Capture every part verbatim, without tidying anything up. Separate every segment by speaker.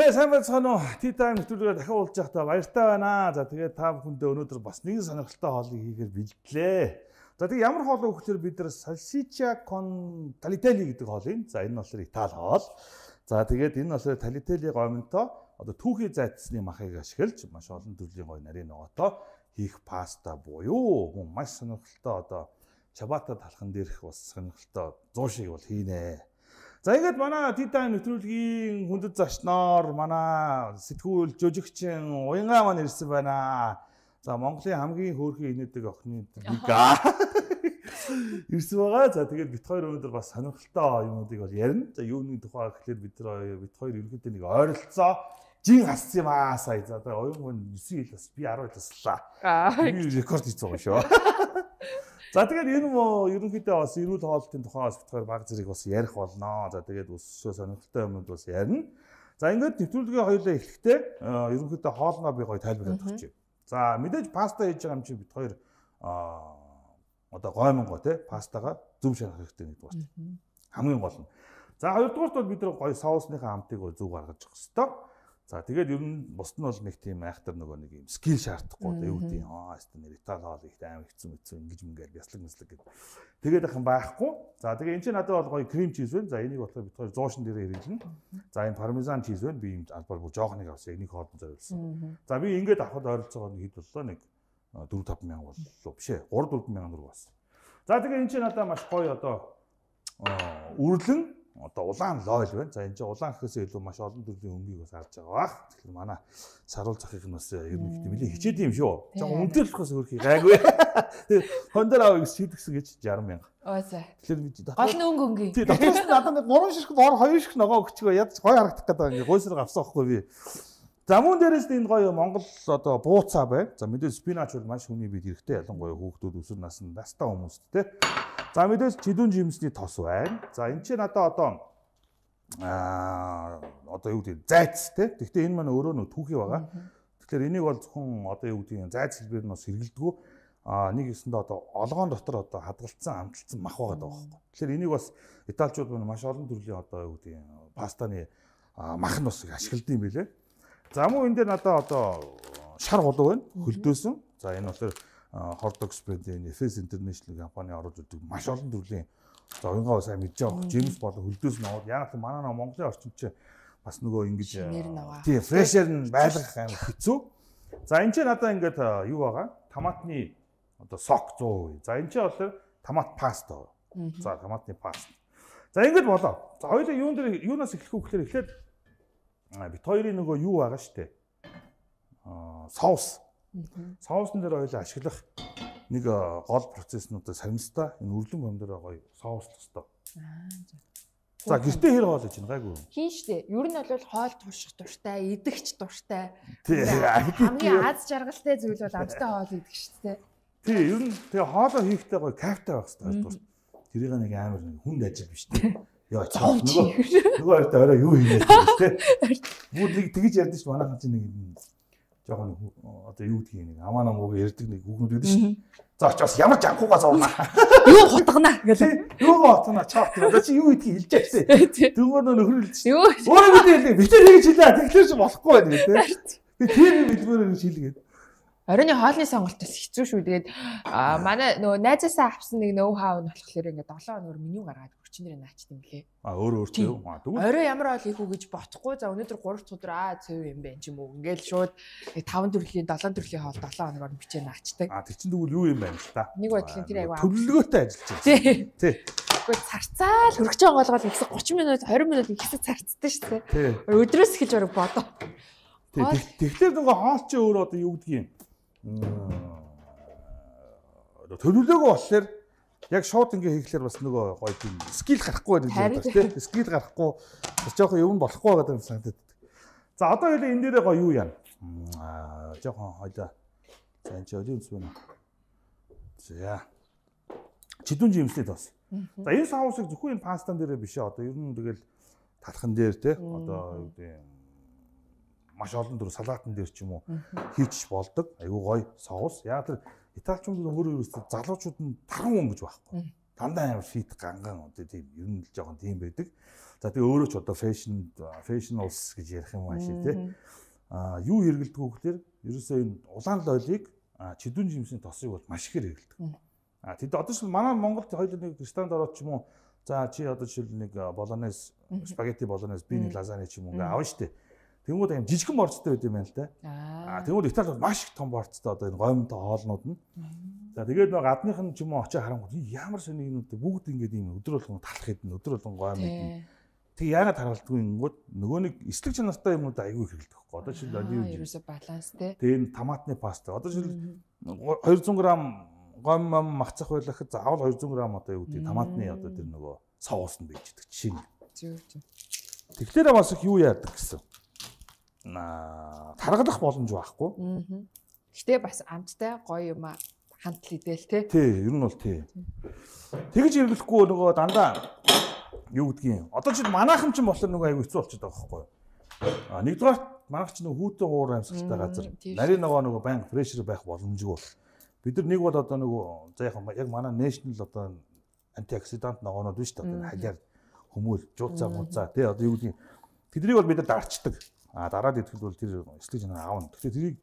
Speaker 1: Тэ сайн байцгаана уу? Tea time нэвтрүүлгээр дахин уулзж байхдаа баяртай байна. За тэгээд та бүхэндээ өнөөдөр бас нэгэн сонирхолтой хоолыг хийхээр бэлдлээ. За тэгээд ямар хоол өгөхөөр бид нар salsiccia con tagliatelle гэдэг хоолыг. За энэ болохоор Итали хоол. За тэгээд энэ болохоор tagliatelle гомонтой одоо түүхий зайцсны махыг ашиглаж маш олон төрлийн гоё нарийн ногоотой хийх паста буюу мөн маш сонирхолтой одоо чабата талхан дээрх бас сонирхолтой зуун шиг бол хийнэ. За ингээд манай Tea time нэвтрүүлгийн хүндэт зочноор манай сэтгүүл жүжигчин Уянгаа маань ирсэн байна. За Монголын хамгийн хөөрхөн инээдэг охины Вика ирсэн байгаа. За тэгээд бит хоёр өнөөдөр бас сонирхолтой юмнуудыг бол ярина. За юуны тухай гэхэлэр бид хоёр бит хоёр ерөнхийдөө нэг ойролцоо жин хассан юм аа сая. За тэгээд оюун хүн девять жил бас би ten жил таслаа. Би рекорд хийсэн байгаа шүү. За тэгээд энэ мө ерөнхийдөө бас эрүүл хоолтын тухай бас битгаар баг зэрэг бас ярих болно. За тэгээд өссөн сонирхолтой юмуд бас ярина. За ингээд нэвтрүүлгээ хоёулаа эхлэхдээ ерөнхийдөө хоолноо би гоё тайлбарлаад өгч. За мэдээж паста хийж байгаа юм чи бит хоёр одоо гоймонго те пастага зөв шарах хэрэгтэй нэг дуусна. Хамгийн гол нь. За хоёрдугаарт бол бид нар гоё соусныхаа амтыг зөв гаргаж явах хэрэгтэй. За тэгээд ер нь бусд нь бол нэг тийм айхтар нөгөө нэг юм скил шаардахгүй да юу гэдэг аа хэвээр нэр Итали хоол их аим хэцүү хэцүү ингэж мэнгээр бяслаг мэслэг гэдэг. Тэгээд ахын байхгүй. За тэгээд энэ чинь надад бол гоё крем чиз байна. За энийг болохоор бид хоёр зуушин дээрээ хэрэглэнэ. За энэ пармезан чиз байна. Би юм албаар бүр жоохныг авсан. Энийг хоолнд зориулсан. За би ингээд авахд ойролцоогоор нэг хэд боллоо нэг four five мянга боллоо биш ээ. three four мянга төгрөг болсон. За тэгээд энэ чинь надад маш гоё одоо үрлэн одоо улаан лойл байна. За энэ чинь улаан гэхээсээ илүү маш олон төрлийн өмгийг бас харж байгаа бах. Тэгэхээр манай саруул захыг нь бас ер нь ихтэй нэлээ хичээд юм шүү. Жог үнэтэй болохоос өөрхий гайгүй. Тэгээ хондор аваа гэж шийдгсэн гэж sixty мянга.
Speaker 2: Оо за.
Speaker 1: Тэгэхээр би
Speaker 2: гол нь өнгө өнгийн.
Speaker 1: Тий, дотроос нь надад нэг three ширхэг бор two ширхэг ногоо өгчихөө ядч гоё харагдах гэдэг ингээ гойсрог авсан байхгүй би. За мөн дээрээс энэ гоё Монгол одоо бууцаа байна. За мэдээж спинач бол маш хүний бид хэрэгтэй ялангуяа хүүхдүүд өсвөр насны настаа хүмүүст те. За мэдээж чидүүн жимсний тос байна. За энэ чинь надаа одоо аа одоо юу гэдэг зайц те. Гэхдээ энэ маань өөрөө нөө түүхий байгаа. Тэгэхээр энийг бол зөвхөн одоо юу гэдэг зайц хэлбэр нь бас хэрэгэлдэггүй. Аа нэг хэсэндээ одоо олгоон дотор одоо хадгалсан амталсан мах байгаа даа байхгүй. Тэгэхээр энийг бас италичууд маань маш олон төрлийн одоо юу гэдэг пастаны мах нь бас ашигладаг юм билэ. За мөн энэ дээр надаа одоо шар голуу байна. Хөлдөөсөн. За энэ болохоор Hortox брэндийн Efes International компани оруулж өгдөг маш олон төрлийн за уянгаа сайн мэдж байгаа. Джеймс болон хөлдөөс нь аваад яг л манай Монголын орчин чинь бас нөгөө ингэж тий фрешер нь байлгах амар хэцүү. За энэ ч надаа ингээд юу байгаа? Томатны одоо сок one hundred percent. За энэ ч болохоор томат паста. За томатны паста. За ингээд болоо. За хоёулаа юун дээр юунаас эхлэх вэ гэхээр эхлээд бит хоёрын нөгөө юу байгаа штэ. Аа соус. Соусн дээр хоёулаа ашиглах нэг гол процесснуудаа саримстай энэ үрлэн бом дээр гоё соус тостой. Аа за. За гэртээ хэр хоол хийж байна гайгүй.
Speaker 2: Хийн штэ. Ер нь бол хоол турших дуртай, идэгч дуртай.
Speaker 1: Тий.
Speaker 2: Хамгийн аз жаргалтай зүйл бол амттай хоол идэх штэ.
Speaker 1: Тий. Ер нь тэгээ хоолоо хийхдээ гоё кайфтай байх хэрэгтэй. Тэрийг нэг амар хүнд ажил биш тий. Яа цаав нөгөө нөгөө хоёртой орой юу хийгээд байна тий. Бүр нэг тэгж ярьдэн ш манайхан чинь нэг жоохон одоо юу гэдгийг нэг амаа намууг ярьдаг нэг хүүхнүүд гэдэг шүү. За очоос ямар жанхуугаа зурнаа.
Speaker 2: Юу хутгана гэдэг.
Speaker 1: Юу хутгана чаавт. За чи юу гэдгийг хэлж яах вэ? Тэгмээр нөхрөлж шүү.
Speaker 2: Юу.
Speaker 1: Өөрөө бид хэлдэг. Бид тэр хийж хэлээ. Тэгэхээр ч болохгүй байна гэдэг. Би тэр хэлбэрээр гэж хэлгээд.
Speaker 2: Оройны хоолны сонголтоос хэцүү шүү. Тэгээд манай нөгөө найзаасаа авсан нэг ноу хау нь болохоор ингээд seven хоногор меню гаргаад хүчнэрээ наачт юм лээ.
Speaker 1: А өөрөө өөртөө юу? А тэгвэл
Speaker 2: орой ямар хоол хийх үү гэж бодохгүй. За өнөөдөр three өдөр аа цэв юм байна ч юм уу. Ингээд шууд five төрлийн seven төрлийн хоол seven хоногор бичээ наачдаг.
Speaker 1: А тэр чинь тэгвэл юу юм байна л та.
Speaker 2: Нэг бодлын тэр аяга
Speaker 1: төлөвлөгөөтэй ажиллаж байна.
Speaker 2: Тий.
Speaker 1: Тий.
Speaker 2: Гэхдээ царцаал хөргөж байгаа болгоод ихсэ thirty минут twenty минут ихсэ царцдаг шүү дээ. Өдрөөс эхэлж орог бодоо.
Speaker 1: Тий. Тэгэхээр нөгөө хоол чи өөрөө одоо юу гэдгийг төлөвлөгөө болохоор яг шууд ингээ хийхлээр бас нөгөө гоё тийм скил гарахгүй байдаг юм байна тийм скил гарахгүй бас жоохон юм болохгүй байгаа юм санагдаад. За одоо хоёул энэ дээрээ гоё юу яа. Аа жоохон хоёлаа. За энэ ч өлийн үс байна. За чидүүн жимсний тос. За энэ соусыг зөвхөн энэ пастан дээрээ биш ээ. Одоо ер нь тэгэл талхан дээр те одоо юу гэдэг маш олон төр салаатан дээр ч юм уу хийчих болдог. Айгуу гоё соус. Яг тэр италичууд өөрөө ерөөсөө залуучууд нь таран хүн гэж байхгүй. дандаа амар фит ганган одоо тийм ер нь л жоохон тийм байдаг. За тэгээ өөрөө ч одоо fashion fashionals гэж ярих юм ааши тий. А юу хэрэгэлдэг вэ гэхээр ерөөсөө энэ улаан лойлыг чидүүн жимсийн тосыг бол маш ихээр хэрэгэлдэг. А тэд одоо ч манай Монголд хоёул нэг ресторанд ороод ч юм уу за чи одоо жишээл нэг болонез спагетти болонез би нэг лазани ч юм уу ингээ авна штэ. Тэнгүүд аим жижигхэн борцтой байд юм байна л да. А тэнгүүд Италид бол маш их том борцтой одоо энэ гомтой хоолнууд нь. За тэгээд нэг гадных нь ч юм уу очиж харангууд ямар сони юмнууд бүгд ингээд ийм өдөр болгон талах хэдэн өдөр болгон гом хэдэн. Тэг яагаад харгалдгүй ингэнгүүт нөгөө нэг эслэг чанартай юмнууд аягүй хэрэгэлдэг байхгүй. Одоо жишээл оливын
Speaker 2: ерөөсө баланс тий.
Speaker 1: Тэгээд томатны паста. Одоо жишээл двести грамм гом мам махцах байлахад заавал двести грамм одоо юу гэдэг томатны одоо тэр нөгөө соус нь байж идэг чинь.
Speaker 2: Зөв зөв.
Speaker 1: Тэгэхээр бас их юу яадаг гэсэн. Аа таргалах боломж байхгүй.
Speaker 2: Гэтэ бас амттай гоё юм хантл идэл тий.
Speaker 1: Тий, ер нь бол тий. Тэгж хэрэглэхгүй нөгөө дандаа юу гэдгийг. Одоо чи манайхан ч болохоор нөгөө аягүй хэцүү болчиход байгаа байхгүй юу? А нэгдүгээр манайх ч нөгөө хүүтэн уур амьсгалтай газар. Нарийн нөгөө нөгөө банк прешэр байх боломжгүй бол. Бид нар нэг бол одоо нөгөө за яг манай national одоо антиоксидант ногоонууд биш одоо халиар хүмүүл жууцаа мууцаа тий одоо юу гэдгийг. Тэднийг бол бид нар дарчдаг. А дараад идэхэд бол тэр эслэг чанар аавна. Тэгэхээр тэрийг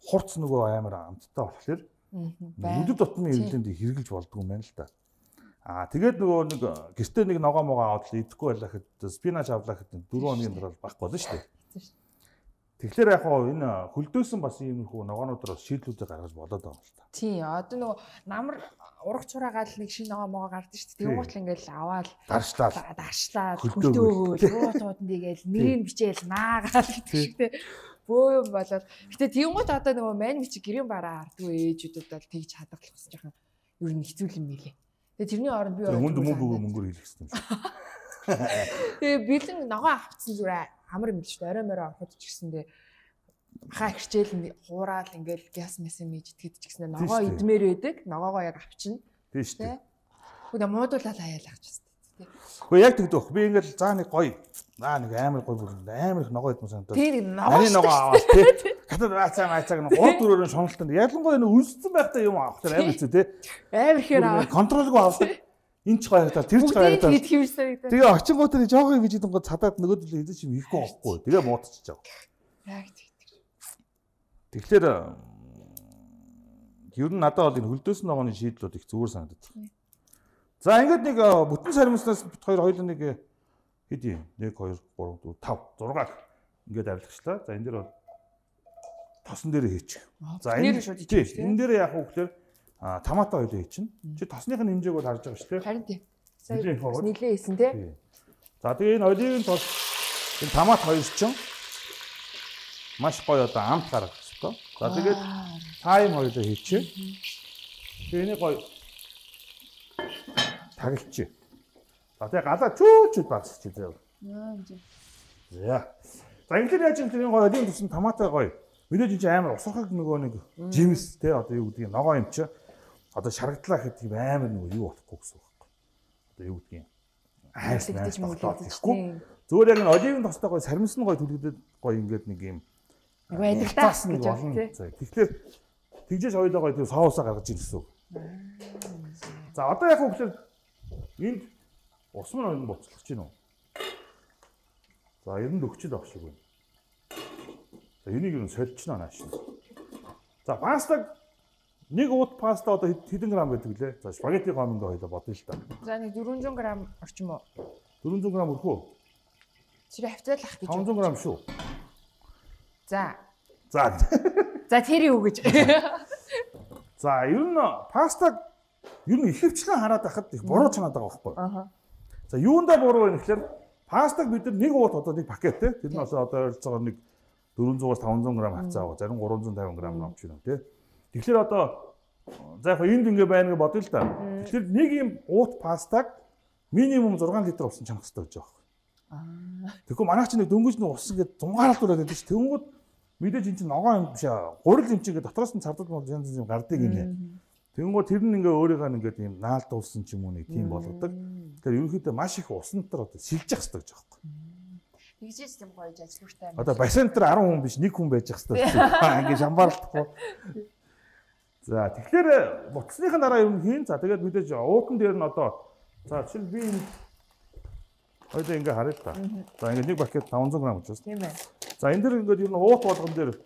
Speaker 1: хурц нөгөө амар амттай болохоор нүдэд дотны ирэлэнд хэрэгжилж болдгоо юм байна л да. А тэгээд нөгөө нэг гэртээ нэг ногоо могоо аваад л идэхгүй байлахад спинач авлаа гэхэд дөрвөн хоногийн дараа байхгүй болно шүү дээ. Тэгэхээр яг хоо энэ хөлдөөсөн бас иймэрхүү ногоонуудаар шийдлүүдээ гаргаж болоод байгаа юм л та.
Speaker 2: Тий, одоо нөгөө намар урах цураагаал нэг шинэ ногоо могоо гардаг шүү дээ. Тэгвэл ингээл аваад
Speaker 1: даршлаа.
Speaker 2: Даршлаа хөлдөө рууцууд нэгээл нэрийг бичээл наагаал гэдэг шиг тий. Бөө юм болоод. Гэтэ тиймүүд одоо нөгөө мань мичиг гэрийн бараа ардгүй ээжүүдэд бол тэгж хадгалах бас жоохон ер нь хэцүү юм билээ. Тэгээ тэрний оронд би
Speaker 1: хүнд мөнгө мөнгөөр хэлэх хэрэгтэй юм шиг.
Speaker 2: Тэгээ бэлэн ногоо авцсан зүгээр амар юм л шүү дээ. Орой морой ороход ч гэсэндээ хаа ихчээл хуурал ингээл газ мэс юм ижтгэд ч гэсэндээ ногоо идмээр байдаг. Ногоогоо яг авчна.
Speaker 1: Тийм шүү дээ.
Speaker 2: Хөөе муудуулаад хаяалах ч гэсэн.
Speaker 1: Хөөе яг тэгдэх. Би ингээл заа нэг гоё. Аа нэг амар гоё бүр амар их ногоо идмэн санагдав.
Speaker 2: Тэр ногоо
Speaker 1: ногоо аваад тий. Хатад бацаа мацааг нь гол дөрөөр нь шуналтанд ялангуяа нэг үнссэн байхдаа юм авах тэр амар хэцүү тий.
Speaker 2: Амар ихээр аваа.
Speaker 1: Контролгүй авдаг. Энд ч гоёртаа тэр ч гоёртаа.
Speaker 2: Тэгэд хийвэрсэн.
Speaker 1: Тэгээ очингуудаа жоохон гэж идэнгод цадаад нөгөөдөл хэзээ ч юм ихгүй байхгүй. Тэгээ муудчихж байгаа.
Speaker 2: Яг тэгдэг.
Speaker 1: Тэгэхээр ер нь надад бол энэ хөлдөөс ногооны шийдлүүд их зүгээр санагдав. За ингээд нэг бүтэн саримснаас бит хоёр хоёул нэг хэд юм? нэг two three four five six ингээд авилгачлаа. За энэ дээр бол тосон дээр хийчих. За энэ энэ дээр яах вэ гэхээр а томато хоёул хийчихнэ. Чи тосных нь хэмжээг бол харж байгаа шүү дээ.
Speaker 2: Харин тийм. Сая нилээ хийсэн тий.
Speaker 1: За тэгээ энэ оливын тос энэ томат хоёр чинь маш гоё одоо амт гаргах хэрэгтэй. За тэгээд тайм хоёул хийчихье. Тэгээ энийг гоё таглчих. За тэгээ галаа чүүчүүд багсчих заяа. За. За ингээд яаж юм тэр гоё оливын тосын томатой гоё. Мэдээж чи амар усрахаг нөгөө нэг жимс те одоо юу гэдгийг ногоо юм чи одоо шарагдлаа гэхэд тийм амар нөгөө юу болохгүй гэсэн үг байхгүй. Одоо юу гэдгийг хайрс найс тогтоохгүй. Зүгээр яг энэ оливын тостой гоё саримсан гоё түлхдэд гоё ингээд нэг юм
Speaker 2: байдагтаас гэж байна тий.
Speaker 1: Тэгэхээр тэгжээж хоёулаа гоё тийм соусаа гаргаж ийн гэсэн үг. За одоо яг хөглөөр энд ус мөн боцлох чинь үү. За ер нь өгчл авах шиг байна. За энийг юу сольчихно нааш. За пастаг нэг уут паста одоо хэдэн грамм байдаг лээ? За спагетти гомонд хоёлоо бодъё л та.
Speaker 2: За нэг дөрвөн зуун грамм орчим уу?
Speaker 1: дөрвөн зуун грамм өрхөө.
Speaker 2: Чирээ хавцаалах гэж.
Speaker 1: таван зуун грамм шүү.
Speaker 2: За.
Speaker 1: За.
Speaker 2: За тэр юу гэж.
Speaker 1: За ер нь пастаг ер нь ихэвчлэн хараад байхад их буруу чанаад байгаа байхгүй.
Speaker 2: Аа.
Speaker 1: За юундаа буруу вэ гэхээр пастаг бид нар нэг уут одоо нэг пакет те тэр нь одоо ойролцоогоор нэг дөрвөн зуунаас таван зуун грамм хавцаа аваа. Зарим гурван зуун тавин грамм авч байна те. Тэгэхээр одоо за яг энд ингэ байна гэж бодъё л да. Тэгэхээр нэг юм уут пастаг минимум зургаан литр усан чанах хэрэгтэй гэж байгаа. Аа. Тэгэхгүй манайх ч нэг дөнгөж нэг ус ингэ зунгаалдуулаад байдаг ш. Тэнгүүд мэдээж эн чинь ногоо юм биш аа. Гурил юм чи ингэ дотроос нь цардал мод янз янз гардаг юм. Тэнгүүд тэр нь ингээ өөрийгөө ингээд юм наалдуулсан ч юм уу нэг тийм болгодог. Тэгэхээр ерөнхийдөө маш их усан дотор одоо сэлжих хэрэгтэй гэж байгаа юм.
Speaker 2: Тэгжээс юм гоё ажиллагтай.
Speaker 1: Одоо бассейн дээр десять хүн биш нэг хүн байж ах хэрэгтэй. Ингээ шамбаарлахгүй. За тэгэхээр буцсныхаа дараа юм хийн. За тэгээд мэдээж уутан дээр нь одоо за жишээл би энэ хоёул ингээ харъя л та. За ингээ нэг пакет таван зуун грамм учраас.
Speaker 2: Тийм ээ.
Speaker 1: За энэ дэр ингээд ер нь уут болгон дээр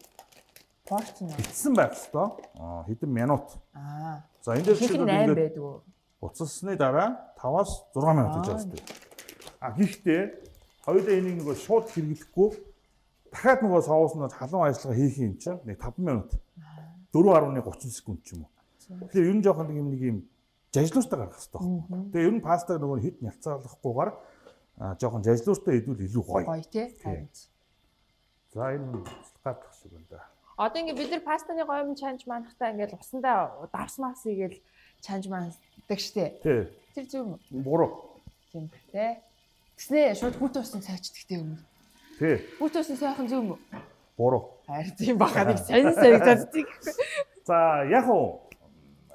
Speaker 2: порцсон юм.
Speaker 1: битсэн байх хэвээр. Аа хэдэн минут.
Speaker 2: Аа.
Speaker 1: За энэ дээр
Speaker 2: чинь восемь байдгүй.
Speaker 1: Буцсны дараа таваас зургаан минут гэж байна. А гэхдээ хоёулаа энийг нөгөө шууд хэрэглэхгүй дахиад нөгөө соусны халуун ажиллагаа хийх юм чинь нэг таван минут. дөрвөн гаруй тридцать секунд ч юм уу. Тэгэхээр ер нь жоохон нэг юм нэг юм жажлуустай гаргах хэрэгтэй байна. Тэгээ ер нь пастаг нөгөө хит нялцаалахгүйгээр жоохон жажлуустай идвэл илүү гоё.
Speaker 2: Гоё тий.
Speaker 1: За энэ гадах шиг байна да.
Speaker 2: Одоо ингээ бид нар пастаны гоём чанж манахтаа ингээл усандаа давсмаас игээл чанж мандаг штэ.
Speaker 1: Тий.
Speaker 2: Тэр зөв юм.
Speaker 1: Буруу.
Speaker 2: Тийм тий. Тэснэ шууд хүүт усан цайчдагтэй юм.
Speaker 1: Тий.
Speaker 2: Хүүт усан сайхан зөв юм.
Speaker 1: Буруу.
Speaker 2: Харин тийм баха нэг сонь санагдаад.
Speaker 1: За яг уу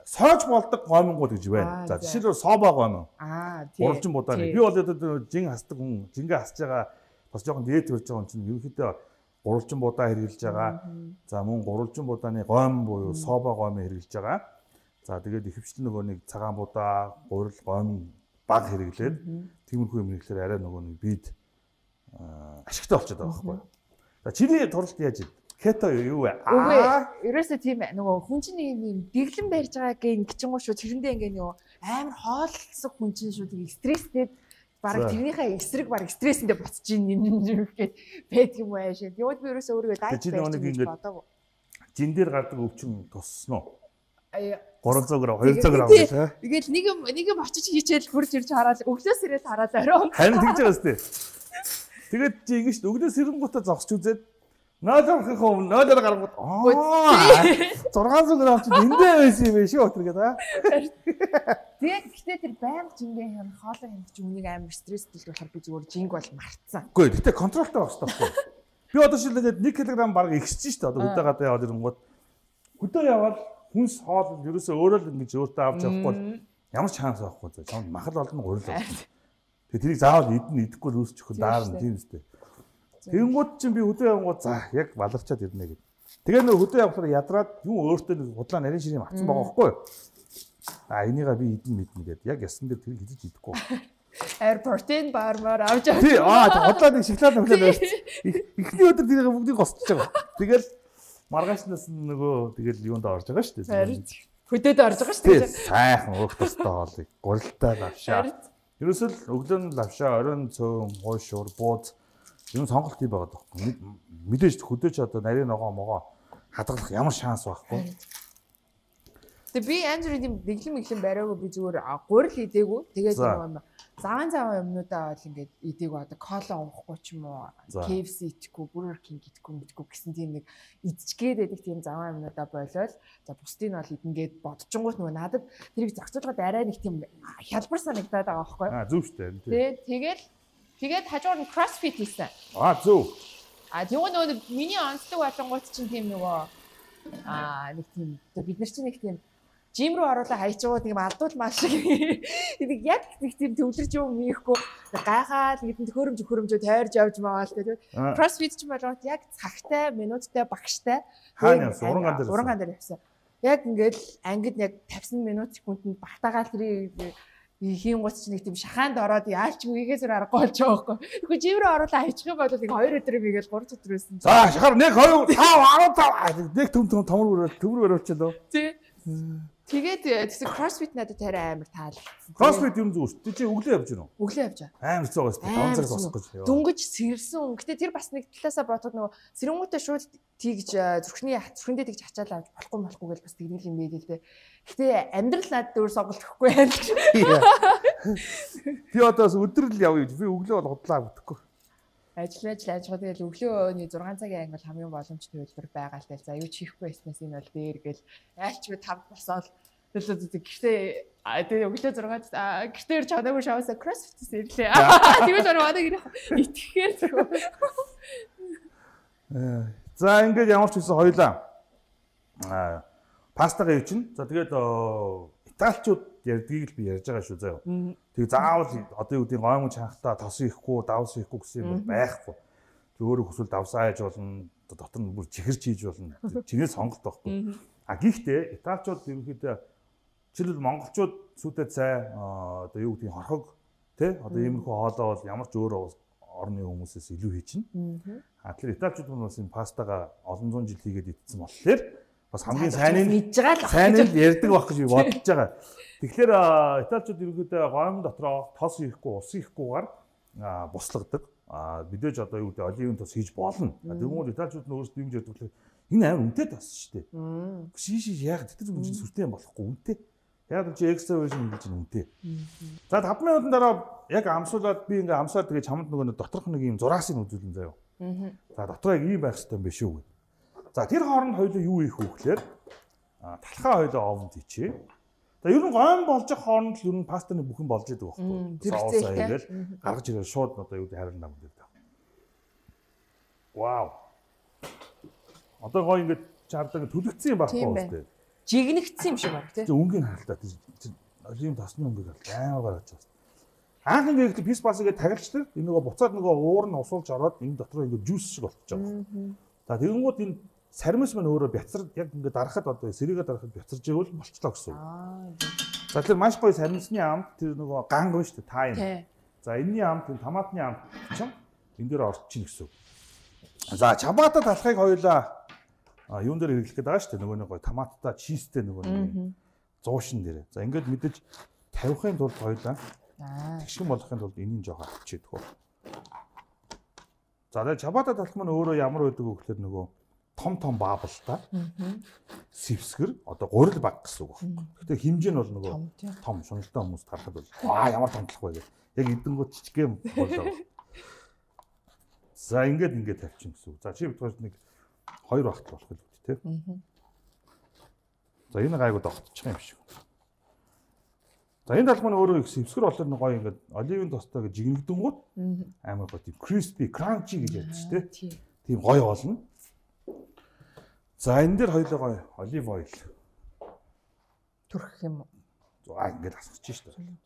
Speaker 1: сойж болдог гомингууд гэж байна. За жишээлбэл соба гомин.
Speaker 2: Аа тийм.
Speaker 1: Уралжин будааны. Би бол одоо жин хасдаг хүн, жингээ хасж байгаа бас жоохон дээд төрж байгаа хүн чинь ерөнхийдөө гурвалжин будаа хэрглэж байгаа. За мөн гурвалжин будааны гомин буюу соба гомин хэрглэж байгаа. За тэгээд ихэвчлэн нөгөө нэг цагаан будаа, гурил гомин баг хэрэглээд тиймэрхүү юм хэрэглэхээр арай нөгөө нэг бид ашигтай болчиход байгаа байхгүй юу? За чиний туралт яаж вэ? Кето юу вэ?
Speaker 2: Аа, ерөөсөө тийм нөгөө хүн чинь юм дэглэн барьж байгааг ингэчингуу шүү тэрэндээ ингээ нөгөө амар хооллсон хүн чинь шүү тийм стресстэй бараг тэрнийхээ эсрэг бараг стрессэндээ буцаж ийн юм гэхэд байдаг юм ааш. Тэгвэл би ерөөсөө өөрийгөө дайт байж бодоагүй.
Speaker 1: Жин дээр гардаг өвчин туссан уу?
Speaker 2: Аа
Speaker 1: гурван зуун грамм, хоёр зуун грамм гэж аа.
Speaker 2: Тэгэл нэг юм нэг юм очиж хийчихэл хурж ирж хараад өглөөс ирээд хараад орой.
Speaker 1: Харин тэгж байгаа сте. Тэгээд чи ингэ шүү өглөөс ирэнгүүтээ зогсч үзээд нөөдөрхөн хөө нөөдөр гаргууд аа шесть зуун грамм чи эндээ байсан юм биш үү өтер гэдэг аа.
Speaker 2: Тэгээд гэхдээ тэр байнга жингээ хям хоолой хямдч үнийг амар стресстэй болохоор би зүгээр жинг бол мартсан.
Speaker 1: Үгүй гэхдээ контролтой байх хэрэгтэй байхгүй. Би одоо шилээд нэг килограмм бараг ихсэж шүү дээ одоо хөдөө гадаа яваад ирэнгүүт хөдөө яваад хүнс хоол ерөөсөө өөрөө л ингэж өөртөө авч явахгүй ямар ч шанс байхгүй заа. Чамд махал олон гурил болно. Тэгээ тэрийг заавал идэн идэхгүй л үүсчих хөө даар нь тийм үстэй. Тэгэнгүүт чинь би хөдөө явангууд за яг баларчаад ирнэ гэд. Тэгээ нөө хөдөө явахаар ядраад юу өөртөө нэг худлаа нарийн ширээ авсан байгаа байхгүй юу? А энийгээ би идэн мэднэ гэд яг ясан дээр тэрийг идэж идэхгүй.
Speaker 2: Air protein бармаар авч авч.
Speaker 1: Тий аа худлаа нэг шоколад өглөө байж. Эхний өдөр тэрийг бүгдийг госч байгаа. Тэгэл маргаашнаас нөгөө тэгэл юунд орж байгаа шүү дээ.
Speaker 2: Хөдөөд орж байгаа шүү дээ.
Speaker 1: Сайхан өөх тустай хоолыг гурилтай лавшаа. Ерөөсөө л өглөө нь лавшаа, оройн цөөн, гойшуур, бууз юм сонголт ий байгаа даа. Мэдээж хөдөөч одоо нарийн ногоо могоо хадгалах ямар шанс байхгүй.
Speaker 2: Тэгээ би анжирын тийм дэглэм мэглэм бариагүй би зүгээр гурил идээгүй. Тэгээд юм заван заван юмнуудаа бол ингээд идээгүй одоо кола уухгүй ч юм уу, кей эф си идэхгүй, Burger King идэхгүй мэдгүй гэсэн тийм нэг идчихгээд байдаг тийм заван юмнуудаа болоод за бусдыг нь бол идэнгээд бодчихгоот нөгөө надад тэрийг зохицуулахад арай нэг тийм хялбар санагдаад байгаа байхгүй.
Speaker 1: Аа зөв шүү дээ.
Speaker 2: Тий, тэгэл тэгээд хажуугаар нь CrossFit хийсэн.
Speaker 1: Аа зөв.
Speaker 2: А тэгвэл нөгөө миний онцлог болонгууд чинь тийм нөгөө аа нэг тийм бид нар чинь нэг тийм жим рүү оруулаа хайчгаа тийм алдуул маш шиг нэг яг нэг тийм төвлөрч юм ийхгүй гайхаад нэг тийм хөрөмж хөрөмжөө тойрж явж байгаа л тэгээд CrossFit ч болоод яг цагтай минуттай багштай
Speaker 1: хаана уранган дээр
Speaker 2: уранган дээр явсан. Яг ингээд ангид яг пятьдесят минут секундэд багтаагаал тэрийг хийн гоц ч нэг тийм шахаанд ороод яалч үгээс зөр аргагүй болж байгаа байхгүй. Тэгэхгүй жим рүү оруулаа хайчих юм бол нэг хоёр өдөр бигээл гурав өдөр байсан.
Speaker 1: За шахаар нэг хоёр тав арав нэг төм төм томор өрөөл төмөр өрөөлчлөө.
Speaker 2: Тий. Тэгээд тэгсэн CrossFit надад тарай амар таалагдсан.
Speaker 1: CrossFit юм зүг шүү. Чи өглөө явж гинөө.
Speaker 2: Өглөө явж байгаа.
Speaker 1: Амар хэцүү байгаа шүү. таван цагаас босох гэж.
Speaker 2: Дүнгэж сэрсэн. Гэтэ тэр бас нэг талаасаа бодоход нөгөө сэрэнгүүтээ шууд тийгж зүрхний зүрхэндээ тэгж ачаал авч болохгүй болохгүй гэж бас тэгнэл юм байл л дээ. Гэтэ амьдрал надад өөр сонголт өгөхгүй байл.
Speaker 1: Би одоо өдөр л явъя гэж. Би өглөө бол худлаа бүтэхгүй.
Speaker 2: Ажил ажил ажил тэгэл өглөөний зургаан цагийн ангил хамгийн боломжтой хөтөлбөр байгаа л дээ. За юу ч хийхгүй байснаас энэ бол дээр гэл айлч би тав босоод төлөө гэхдээ тэгээ өглөө зургаад гэртээр чанаагүй шавсаа CrossFit ирлээ. Тэгвэл ороод ирэх итгэхээр тэгв.
Speaker 1: За ингээд ямар ч үсэн хоёлаа аа пастагаа юу чинь. За тэгээд италичууд ярьдгийг л би ярьж байгаа шүү заяа. Тэг заавал одоо юу гэдэг гоймон чанхтаа тос ихгүй, давс ихгүй гэсэн юм байхгүй. Тэг өөрөө хүсвэл давсаа яаж болно, дотор нь бүр чихэрч хийж болно. Чинээ сонголт байхгүй. А гэхдээ Италичууд ерөнхийдөө жишээлбэл монголчууд сүйдээ цай одоо юу гэдгийг хорхог тий одоо иймэрхүү хоолоо бол ямар ч өөр орны хүмүүсээс илүү хийчихнэ. А тэгэхээр Италичууд нь бас энэ пастага олон зуун жил хийгээд идсэн болохоор бас хамгийн сайн нь
Speaker 2: мэдж байгаа л
Speaker 1: сайн нь ярьдаг байх гэж би бодож байгаа. Тэгэхээр Италичууд ерөнхийдөө гомн дотроо тос ирэхгүй ус ирэхгүйгээр буслагдаг. А мэдээж одоо юу гэдэг оливын тос хийж болно. Тэгмүүд Италичууд нь өөрсдөө юм ярьдаг болохоор энэ амар үнэтэй тос шүү дээ. Шиш шиш яг тэр үн сүртэй болохгүй үнэтэй. Яг чи экстра вершн хийж үнэтэй. За тавд минутын дараа яг амсуулаад би ингээ амсаад тэгээ чамд нөгөө доторх нэг юм зураасыг үзүүлэн заяа. За дотроо яг ийм байх хэрэгтэй юм биш үү. За тэр хооронд хоёулаа юу ийх вэ гэхээр талхаа хоёулаа овонд хийчээ. За ер нь гойн болж байгаа хооронд л ер нь пастаны бүхэн болж идэг байхгүй. Соус аягээл гаргаж ирэл шууд одоо юу харин нам гэдэг. Вау. Одоо гоё ингээд чардаг төлөгцсөн юм байхгүй үстэй.
Speaker 2: Жигнэгдсэн юм шиг баг тий.
Speaker 1: Өнгийн харалтаа оливын тосны өнгийг амар гаргаж байна. Анх ингээд пис бас ингээд тагилчдаг. Энэ нөгөө буцаад нөгөө уур нь усуулж ороод энэ дотор ингээд жуус шиг болчихж байгаа. За тэгэнгүүт энэ сармис маань өөрөө бяцар яг ингээд дарахад одоо сэрийгээ дарахад бяцарж ивэл болчлоо гэсэн үг. За тэр маш гоё сармисны амт тэр нөгөө ганг байна шүү дээ тайм. За энэний амт энэ томатны амт чинь энэ дээр орчих гэсэн үг. За чабата талхыг хоёулаа а юун дээр хэрэглэх гээд байгаа шүү дээ нөгөө нэг гоё томаттай чизтэй нөгөө нэг зуушин дээр. За ингээд мэдээж тавихын тулд хоёулаа тэгшин болохын тулд энэний жоо авчихэд хөө. За тэгээд чабата талх маань өөрөө ямар байдаг вэ гэхээр нөгөө том том баабалтай. Сэвсгэр одоо гурил баг гэсэн үг байна. Гэхдээ хэмжээ нь бол нөгөө том шуналтай хүмүүст харахад бол аа ямар томтлох вэ гэх. Яг эдэнгүүд жижигхэн болоо. За ингээд ингээд тавьчих гэсэн үг. За чи бидгээр нэг хоёр багт болох л үү те. За энэ гайгүй тогтчих юм шиг. За энэ талх маань өөрөө их сэвсгэр болоод гоё ингээд оливын тостой гэж жигнэгдэнгүүт амар гоё тийм crispy crunchy гэж яддаг шүү дээ. Тийм гоё болно. За энэ дээр хоёулаа гоё олив ойл
Speaker 2: түрх юм уу?
Speaker 1: За ингээд асгачих шүү дээ.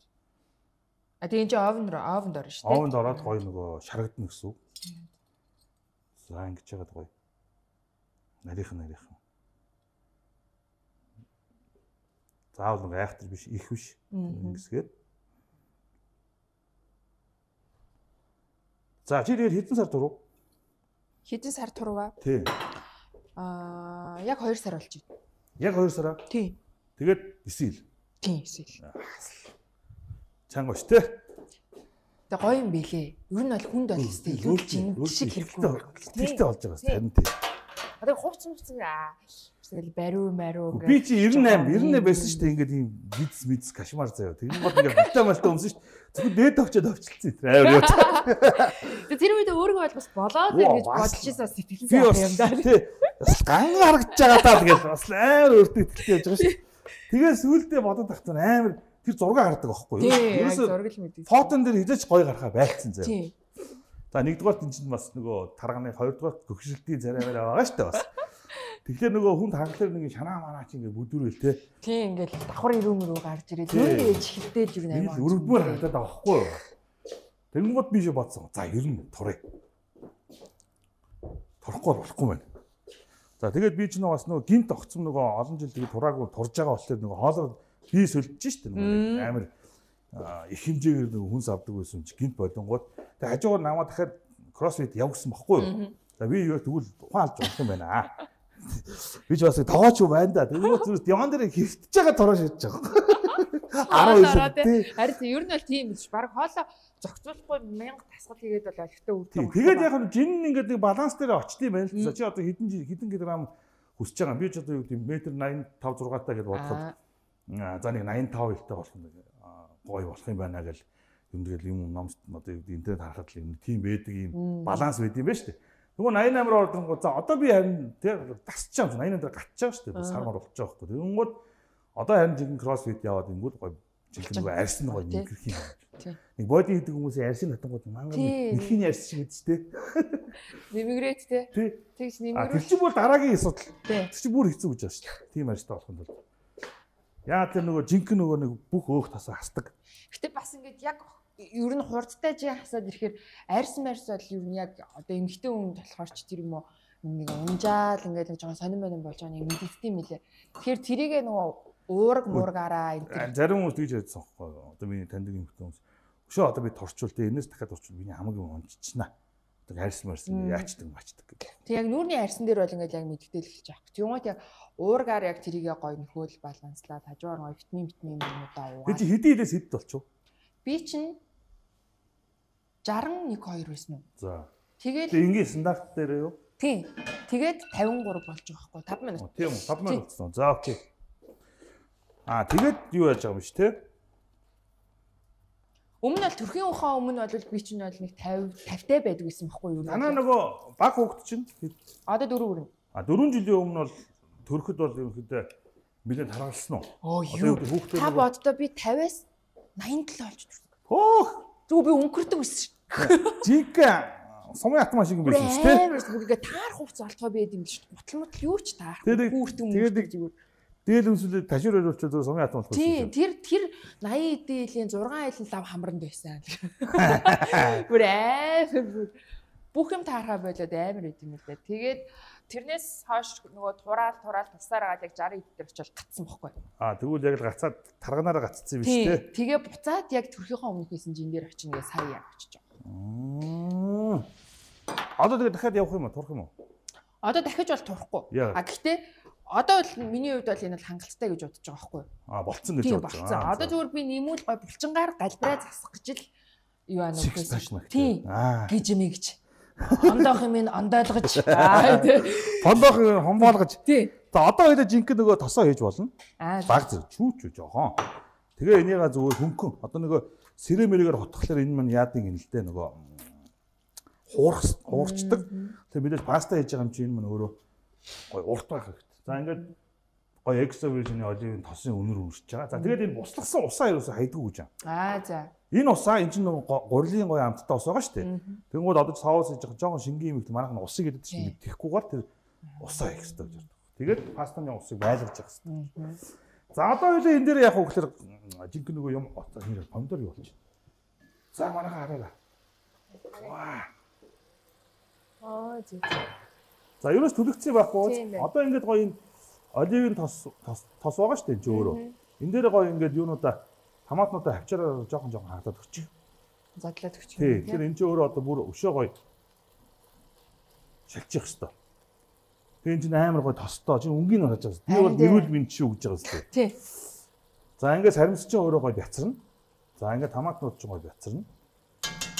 Speaker 2: А тийм чи овн руу овнд орно шүү дээ.
Speaker 1: Овнд ороод гоё нөгөө шарагдана гэсэн үг. За ингэж яагаад гоё. Нарийнх нарийнх. Заавал нэг айхтар биш их биш ингэсгээд. За чи тэгээд хэдэн сар турав?
Speaker 2: Хэдэн сар турваа?
Speaker 1: Тий.
Speaker 2: Аа яг хоёр сар болж байна.
Speaker 1: Яг хоёр сараа?
Speaker 2: Тий.
Speaker 1: Тэгээд эсэл.
Speaker 2: Тий эсэл.
Speaker 1: Чанга ш тэ.
Speaker 2: Тэгээ гоё юм билээ. Ер нь бол хүнд бол өстэй илүү жинг шиг хэрэггүй.
Speaker 1: Тэртэй болж байгаа харин тий.
Speaker 2: Одоо хувц мувц аа тэгэл бариу маруу
Speaker 1: гэх. Би чи девяносто восемь девяносто восемь байсан шүү дээ. Ингээд ийм биц биц кашмар заяа. Тэгэн гол ингээд витаминтай өмсөн шүү дээ. Зөвхөн дээд тавчаад авчилсан. Амар яа.
Speaker 2: Тэгээ тэр үед өөргөө бол бас болоод гэж бодож ирсэн сэтгэлэн
Speaker 1: сайн юм даа. Тий. Бас ган харагдаж байгаа даа тэгэл бас амар өөртөө ихтэй яж байгаа шүү. Тэгээ сүүлдээ бодоод тахсан амар тэр зураг хардаг байхгүй юу?
Speaker 2: Ерөөсөө зураг л мэдээ.
Speaker 1: Фотон дээр хизээч гоё гарахаа байлцсан заяа. Тий. За нэгдүгээр энэ чинь бас нөгөө тарганы хоёрдугаар гөгшрэлтийн царайгаар байгаа шүү дээ бас. Тэгэхээр нөгөө хүнд хангалаар нэг шанаа манаа чи ингээд бүдүүрэл те.
Speaker 2: Тийм ингээд давхар ирүүм рүү гарч ирээд өөрөө ээж хилдээж юу наймаа.
Speaker 1: Өрөвдмөр хатаад байгаа байхгүй юу? Тэнгууд би шиг бодсон. За ер нь турыг. Турохгүй болохгүй байна. За тэгээд би ч нөгөө бас нөгөө гинт огцсон нөгөө олон жил тэгээд тураагүй турж байгаа болохоор нөгөө хоолоор би сөлдөж штэ нөгөө амар их хэмжээгээр нөгөө хүнс авдаг байсан чи гинт бодонгууд тэгээд хажуугаар намаа дахиад кроссфит явуулсан баггүй юу? За би юу тэгвэл ухаан алж болох юм байна аа. Би ч бас тоогооч юу байна да. Тэгвэл зүрх диван дээр хөвтөж байгаа тураа шидэж байгаа.
Speaker 2: араа тий. Харин ер нь бол тийм биш. Бараг хоолоо зохицуулахгүй мянга тасгал хийгээд бол олигтой өвдөв.
Speaker 1: Тэгээд яг нь жин ингээд нэг баланс дээр очтыг байна л. За чи одоо хэдэн хэдэн килограмм хүсэж байгаа. Би ч одоо юу гэдэг метр восемьдесят пять зугаатай гэж бодоход за нэг восемьдесят пять хэлтэй болох юм гоё болох юм байна гэл юм тэгэл юм номс одоо интернет харахад л юм тийм байдаг юм баланс байд юм байна шүү дээ. Нөгөө восемьдесят восемь ордонгоо за одоо би харин тэр тасч байгаа восемьдесят восемь дээр гатчих шүү дээ. Сармаар болж байгаа байхгүй. Тэгэнгүүт одоо харин жинхэнэ кроссфит яваад ингүүл гоё жинхэнэ нөгөө арьсан гоё нэгэрх юм. Нэг боди хийдэг хүмүүсийн арьсын хатангууд мангар нэхний арьс шиг гэдэг дээ.
Speaker 2: Нэмэгрээд те. Тэгж нэмэгрээ.
Speaker 1: Тэр чинь бол дараагийн асуудал. Тэр чинь бүр хэцүү гэж байна шүү дээ. Тийм арьстай болох юм бол. Яа тэр нөгөө жинхэнэ нөгөө нэг бүх өөх тасаа хасдаг.
Speaker 2: Гэтэ бас ингээд яг ер нь хурдтай жи хасаад ирэхээр арьс марьс бол ер нь яг одоо эмгэгтэй хүн болохоор ч тэр юм уу нэг унжаал ингээд нэг жоохон сонирн сонирн болж байгаа нэг мэдэгдэв юм лээ. Тэгэхээр тэрийгээ нөгөө уураг муургаараа энэ
Speaker 1: зарим хүмүүс тэгж ярьсан байхгүй юу? Одоо миний таньдаг юм хүмүүс. Өшөө одоо би турчвал тэ энэс дахиад турчвал миний хамаг юм унчичнаа. Одоо харьсан марсан яачдаг мачдаг гэх.
Speaker 2: Тэг яг нүүрний харьсан дээр бол ингээд яг мэдгдэл эхэлж байгаа. Тэгмээд яг уургаар яг тэрийгээ гоё нөхөөл баланслаад хажуугаар гоё витамин витамин юмудаа уугаад.
Speaker 1: Тэг чи хэдийн хідээс хэд болчих вэ?
Speaker 2: Би чинь саран нэг хоёр байсан уу?
Speaker 1: За.
Speaker 2: Тэгээд
Speaker 1: энгийн стандарт дээр юу?
Speaker 2: Тийм. Тэгээд тавин гурав болж байгаа байхгүй таван минут.
Speaker 1: Тийм үү? таван минут болсон. За окей. Аа тэгээд юу яаж байгаа юм биш те?
Speaker 2: Өмнө нь бол төрхийн ухаан өмнө бол би чинь бол нэг тавин тавтай байдаг гэсэн байхгүй юу?
Speaker 1: Танаа нөгөө баг хүүхэд чинь
Speaker 2: одоо дөрөв хүрнэ.
Speaker 1: А дөрвөн жилийн өмнө бол төрөхөд бол ерөнхийдөө билет харгалсан уу?
Speaker 2: Оо юу? Та боддоо би тавиас наян төлөө олж төрсөн.
Speaker 1: Хөөх.
Speaker 2: Зүг би өнгөрдөг байсан шүү.
Speaker 1: Жинка сумын автомат шиг юм байсан шүү дээ.
Speaker 2: Тэрс бүггээ таар хувц олтгой байд юм шүү. Гутал мутал юу ч таар.
Speaker 1: Хүүртэн өнгөрдөг зүгээр. Дээл өмсөлөд ташир өрөвчөө зөв сумын автомат болсон.
Speaker 2: Тийм, тэр тэр наян эдийн зургаан айлын лав хамранд байсан. Бүр амар бүх юм таархаа болоод амар үт юм л дээ. Тэгээд тэрнээс хойш нөгөө тураал тураал тусаар агаад яг сарын эд дээр очил гацсан бохгүй.
Speaker 1: Аа тэгвэл яг л гацаад тарганаараа гацсан юм биш үү?
Speaker 2: Тэгээ буцаад яг төрхийнхөө өмнөхөөс жин дээр очино гээ сая яг очиж
Speaker 1: байгаа. Одоо тэгээ дахиад явах юм уу? Турах юм уу?
Speaker 2: Одоо дахиж бол турахгүй. А гэхдээ одоо бол миний хувьд бол энэ бол хангалттай гэж бодож байгаа байхгүй юу?
Speaker 1: Аа болцсон гэж бодож
Speaker 2: байгаа. Одоо зүгээр би нэмүүл гой булчингаар галбираа засах гэж л юу аа нөхөөс. Тийм. Гэж юм гэж. Ондоох юм ин ондойлгож.
Speaker 1: Ондоох хомбоолгож.
Speaker 2: Тий.
Speaker 1: За одоо хоёул жинхэнэ нөгөө тосоо хийж болно. Баг зэрэг чүүч жоохон. Тэгээ энийга зүгээр хөнгөн. Одоо нөгөө сэрэмэрэгээр хотхолоор энэ мань яадаг юм л дээ нөгөө хуурах хуурчдаг. Тэгээ бидээс паста хийж байгаа юм чи энэ мань өөрөө гой урт байх хэрэгтэй. За ингээд гой экстра вершны оливын тосын өнөр өрсөж байгаа. За тэгээд энэ буслагсан усаа юусаа хайдгүй гэж байна.
Speaker 2: Аа за.
Speaker 1: Энэ усаа энэ чинь гурилын гой амттай ус байгаа шүү дээ. Тэнгүүд одоо соус хийж байгаа жоохон шингийн юм их манайх нь усыг гэдэг чинь тэхгүйгээр тэр усаа хийх хэрэгтэй гэж байна. Тэгээд пастаны усыг байлгаж явах хэрэгтэй. За одоо хоёул энэ дээр яг хөөхлөр жинхэнэ нөгөө юм нэр помидор юу болж байна. За манайхаа хараарай. Ваа.
Speaker 2: Аа зэ.
Speaker 1: За ерөөс төлөгцсөн байхгүй. Одоо ингээд гоё энэ оливын тос тос байгаа шүү дээ чи өөрөө. Энэ дээр гоё ингээд юунуудаа томатнуудаа авчираа жоохон жоохон хатаад өгчих.
Speaker 2: Задлаад өгчих.
Speaker 1: Тий. Тэгэхээр энэ ч өөрөө одоо бүр өшөө гоё шалчих хэвээр. Тэгээ энэ чинь амар гоё тостой. Чи өнгийн харж байгаа. Би бол нэрүүл минь чи өгж байгаа зү.
Speaker 2: Тий.
Speaker 1: За ингээд саримс чинь өөрөө гоё бяцарна. За ингээд томатнууд ч гоё бяцарна.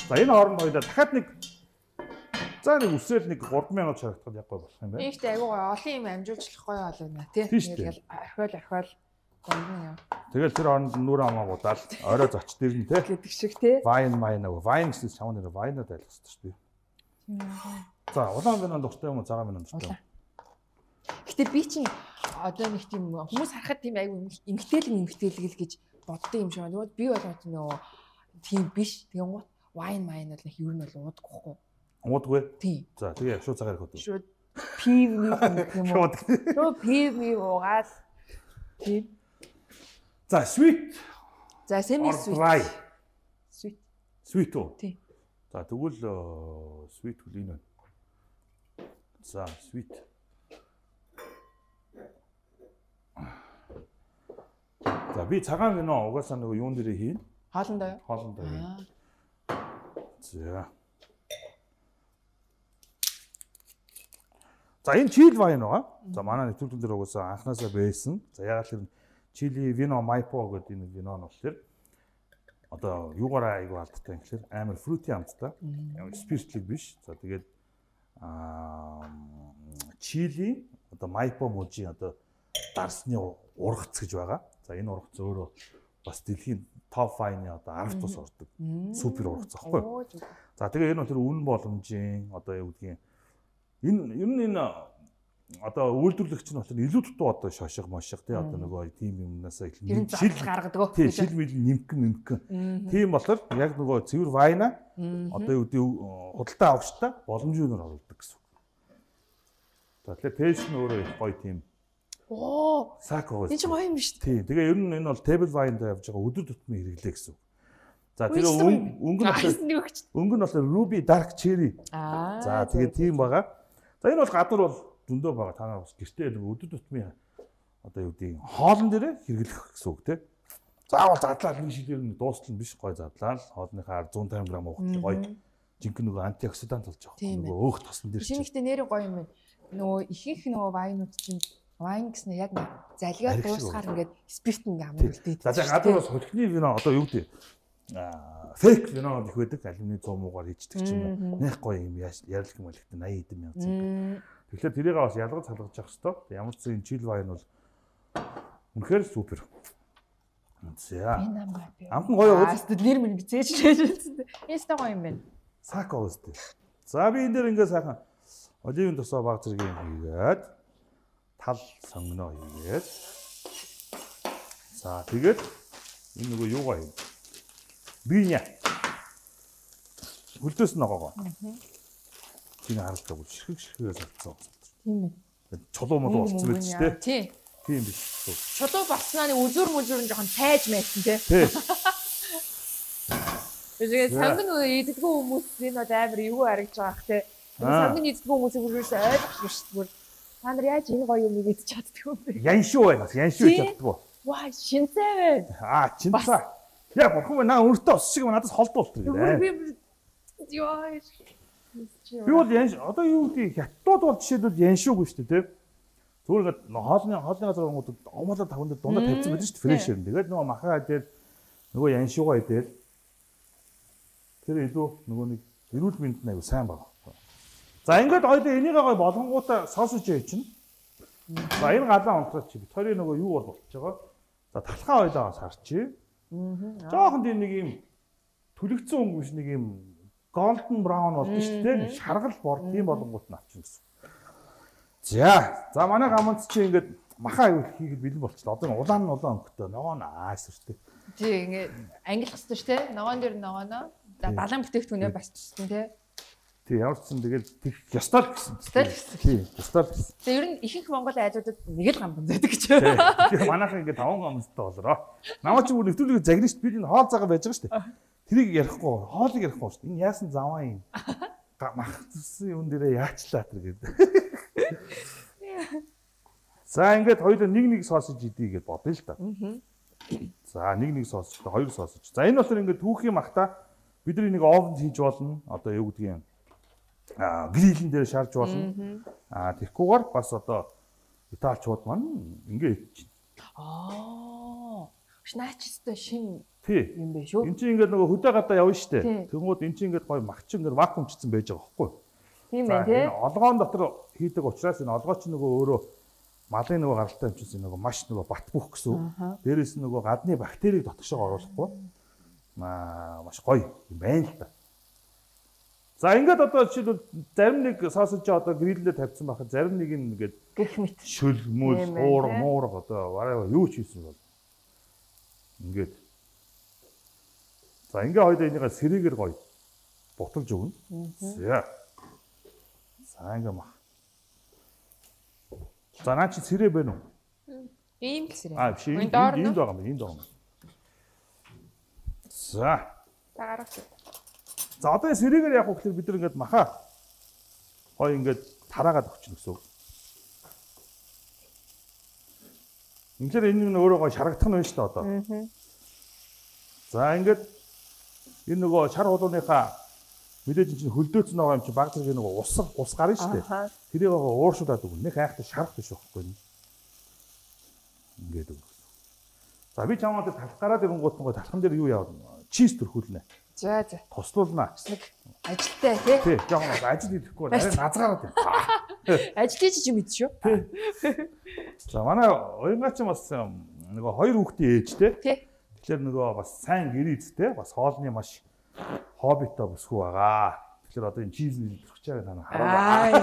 Speaker 1: За энэ хооронд хоёлаа дахиад нэг за нэг үсрээл нэг гурван мянган чарагдахад яг гоё болох юм байна.
Speaker 2: Ихтэй айгуу гоё олон юм амжуулчлах гоё болно тий. Тэгэл орхиол орхиол гондон яа.
Speaker 1: Тэгэл тэр хооронд нүрэ амаагуудаа л орой зоч дэрнэ тий.
Speaker 2: Гэдэг шиг тий.
Speaker 1: Вайн майн аа вайн гэсэн чамд нэр вайнад айлах хэрэгтэй шүү дээ. За улаан винон дуртай юм уу цагаан винон дуртай юм.
Speaker 2: Гэтэ би чинь одоо нэг тийм хүмүүс харахад тийм айгуу эмгтээлэг эмгтээлэг гэж боддог юм шиг байна. Би бол нөгөө тийм биш. Тэгээ гоо вайн майн бол их юу нь бол уудаггүй. Уудаггүй. Тийм.
Speaker 1: За тэгээ шууд цагаар хот.
Speaker 2: Шууд пив нэг юм уу? Шууд пив ми уугаад тийм.
Speaker 1: За sweet.
Speaker 2: За semi sweet. Sweet.
Speaker 1: Sweet уу?
Speaker 2: Тийм.
Speaker 1: За тэгвэл sweet хөл энэ байна. За sweet. За би цагаан вино угаасаа нөгөө юун дээрээ хийн.
Speaker 2: Хоолндоо юу?
Speaker 1: Хоолндоо хийн. За. За энэ чили вайн байгаа. За манай нэвтрүүлгэн дээр угаасаа анханасаа байсан. За ягаад тэр чили вино майпо гэдэг энэ вино нь болохоор одоо юугаараа айгу алдтай юм гэхээр амар фрути амттай. Амар спиртлэг биш. За тэгээд аа чили одоо майпо мужи одоо дарсны ургац гэж байгаа. За энэ ургац өөрөө бас дэлхийн топ вайны одоо арга тус ордог. Супер ургац аахгүй. За тэгээ энэ бол тэр үнэн боломжийн одоо юу гэдгийг энэ ер нь энэ одоо үйлдвэрлэгч нь болохоор илүү дутуу одоо шошго мошго тий одоо нөгөө тийм юмнасаа их
Speaker 2: шил гаргадаг.
Speaker 1: Тий шил мэл нимкэн нимкэн. Тийм болохоор яг нөгөө цэвэр вайна одоо юу гэдэг худалдаа авагчтай боломжийн үнээр оруулдаг гэсэн үг. За тэгэхээр тест нь өөрөө их гоё тийм.
Speaker 2: Оо.
Speaker 1: Сако.
Speaker 2: Энэ ч гоё юм шүү дээ.
Speaker 1: Тий тэгээ ер нь энэ бол table wine дээр явж байгаа өдөр тутмын хэрэглээ гэсэн үг. За тэгээ өнгө нь болохоор өнгө нь болохоор ruby dark cherry.
Speaker 2: Аа.
Speaker 1: За тэгээ тийм байгаа. За энэ бол гадуур бол зөндөө байгаа. Та нар бас гэртээ нэг өдөр тутмын одоо юу гэдэг хоолн дээрээ хэрэглэх гэсэн үг тийм. Заавал задлаад нэг шилээр нэг дуустал биш гой задлаа. Хоолныхаа зуун тамир грамм уухтай гой. Жинхэнэ нөгөө антиоксидант болж байгаа. Нөгөө өөх тосон дээр.
Speaker 2: Шинэхдээ нэрийн гоё юм байна. Нөгөө ихэнх нөгөө вайнууд чинь вайн гэсэн яг залгаа дуусгаар ингээд спирт ингээ амруулдаг.
Speaker 1: За за гадуур бас хөлхний вино одоо юу гэдэг аа фейк вино их байдаг. Алюминий цум уугаар хийждэг ч юм уу. Нэх гоё юм ярилх юм байлгт eighty хэдэн мянган цент. Тэгэхээр тэрийг бас ялгаж салгаж явах хэрэгтэй. Ямар ч зүйл чил вайн бол үнэхээр супер. За. Амт нь гоё уу?
Speaker 2: Нэр мэн бизээж хэлсэн. Ястаа гоё юм байна.
Speaker 1: Сако үстэй. За би энэ дээр ингээ сайхан оливын тосоо баг зэрэг юм хийгээд тал сонгоно хийгээд. За тэгээд энэ нөгөө юугаа юм. Биня. Хөлдөөс ногоогоо. Тийм харагддаг бол ширхэг ширхгээс авцсан.
Speaker 2: Тийм
Speaker 1: ээ. Чулуу молоо болцсон байж тээ.
Speaker 2: Тийм.
Speaker 1: Тийм биш.
Speaker 2: Чулуу болсноо нэг үзүр мүзүр нь жоохон тайж байсан тий.
Speaker 1: Тий.
Speaker 2: Тэгээд санган идэггүй хүмүүс энэ амар юу харагдж байгаах тий. Санган идэггүй хүмүүсийг бүрээс ойлгох шүү дээ. Та нар яаж энэ гоё юм идэж чаддаг юм бэ?
Speaker 1: Яншуу байна. Яншуу идэж чаддаг.
Speaker 2: Ваа, шинцээ байна.
Speaker 1: Аа, чинцаа. Яа, бурхан маа наа өөртөө ус шиг надаас холдуулт гэдэг.
Speaker 2: Би ёо.
Speaker 1: Би бол янш одоо юу гэдэг хятадууд бол жишээлбэл яншуугүй шүү дээ, тийм. Зүгээр ингээд хоолны хоолны газар гонгууд омолоо таван дээр дундаа тавьсан байдаг шүү дээ, фрэш юм. Тэгээд нөгөө махаа идээд нөгөө яншуугаа идээд тэр илүү нөгөө нэг эрүүл мэндэд аягүй сайн байгаа. За ингээд ойлоо энийг гой болгонгуудаа сосож яа чинь. За энэ галаа онцгой чи. Битэрийн нөгөө юу бол болчихж байгаа. За талхаа ойлоогоос харчи. Аа. Жохон тийм нэг юм төлөгцсөн өнгө биш нэг юм голден браун болдог шүү дээ. Шаргал бор тийм болгонгууд нь авчихна гэсэн. За, за манай гаманц чи ингээд махаа аюул хийгээд бэлэн болчихлоо. Одоо улаан нь улаан өнгөтэй. Ногоо наас шүү дээ.
Speaker 2: Тий, ингээд ангилах хэрэгтэй шүү дээ. Ногоон дээр ногооноо. За далайн бүтээгдэхүүнээ бас чистэн тий.
Speaker 1: Тий, ямар ч юм тэгэл тех ёстой гэсэн.
Speaker 2: Ёстой гэсэн.
Speaker 1: Тий, ёстой гэсэн.
Speaker 2: Тэгээ ер нь ихэнх Монгол айдуудад нэг л гамбан зайдаг гэж.
Speaker 1: Тэгээ манайхан ингээд таван гамбантай болороо. Намаа чи бүр нэвтрүүлгийг загнаа шүү дээ. Би энэ хоол цагаа байж байгаа шүү дээ. Тэрийг ярихгүй, хоолыг ярихгүй шүү дээ. Энэ яасан заваа юм. Махцсан юм дээрээ яачлаа тэр гэдэг. За ингээд хоёулаа нэг нэг сосож идий гэж бодъё л да. За нэг нэг сосож, хоёр сосож. За энэ болохоор ингээд түүхийн махта бидний нэг овнд хийж болно. Одоо юу гэдгийг аа грилэн дээр шарж болно. Аа тэгхгүйгээр бас одоо италичууд маань ингээд идэж байна.
Speaker 2: Аа. Шнаачстай шин
Speaker 1: тий
Speaker 2: юм бэ шүү.
Speaker 1: Энд чинь ингээд нөгөө хөдөө гадаа явна штэ. Тэнгууд эн чинь ингээд гоё махч ингээд вакуумчсан байж байгаа байхгүй.
Speaker 2: Тийм байх тий.
Speaker 1: Олгоон дотор хийдэг учраас энэ олгоо чи нөгөө өөрөө малын нөгөө гаралтай юмчсан нөгөө маш нөгөө бат бөх гэсэн. Дээрээс нь нөгөө гадны бактерийг дотгошоо оруулахгүй. Маа маш гоё юм байна л та. За ингээд одоо жишээлбэл зарим нэг сосож одоо грилдээ тавьсан байхад зарим нэг нь ингээд
Speaker 2: гэх мэт
Speaker 1: шөл мөл уур муур одоо вараа юу ч хийсэн бол ингээд за ингээ хоёул энийгээ сэрээгээр гоё буталж өгнө. За. За ингээ мах. За наа чи сэрээ байна уу?
Speaker 2: ийм л сэрээ.
Speaker 1: Аа биш энд байгаа юм энд байгаа юм. За.
Speaker 2: За гарах.
Speaker 1: За одоо сэрээгээр яг хөөхлөөр бид нар ингээд махаа гоё ингээд тараагаад өгч гэсэн үг. Ингээд энэ нь өөрөө гоё шарагдах нь байна шүү дээ одоо. За ингээд энэ нөгөө шар хулууныхаа мэдээж чинь хөлдөөцсөн байгаа юм чи баг зэрэг нөгөө ус ус гарна шүү дээ. Тэрийг ууршуулад өгнө. Нэг хайхтай шарах биш байхгүй нь. Ингээд өгнө. За би чамд талх гараад ирэнгуут нөгөө талхан дээр юу яваа? Чиз төрхүүлнэ.
Speaker 2: За за.
Speaker 1: Тослуулнаа.
Speaker 2: Нэг ажилтай тий.
Speaker 1: Тий, жоохон бас ажил хийхгүй нарийн назгаараад байна.
Speaker 2: Ажил хийж чи мэд шүү.
Speaker 1: За манай уянгач бас нөгөө хоёр хүүхдийн ээжтэй.
Speaker 2: Тий.
Speaker 1: Тэгэхээр нөгөө бас сайн гэрээдтэй бас хоолны маш хоббитой бүсгүй байгаа. Тэгэхээр одоо энэ чиз нэлж өгч байгаа та нар хараа.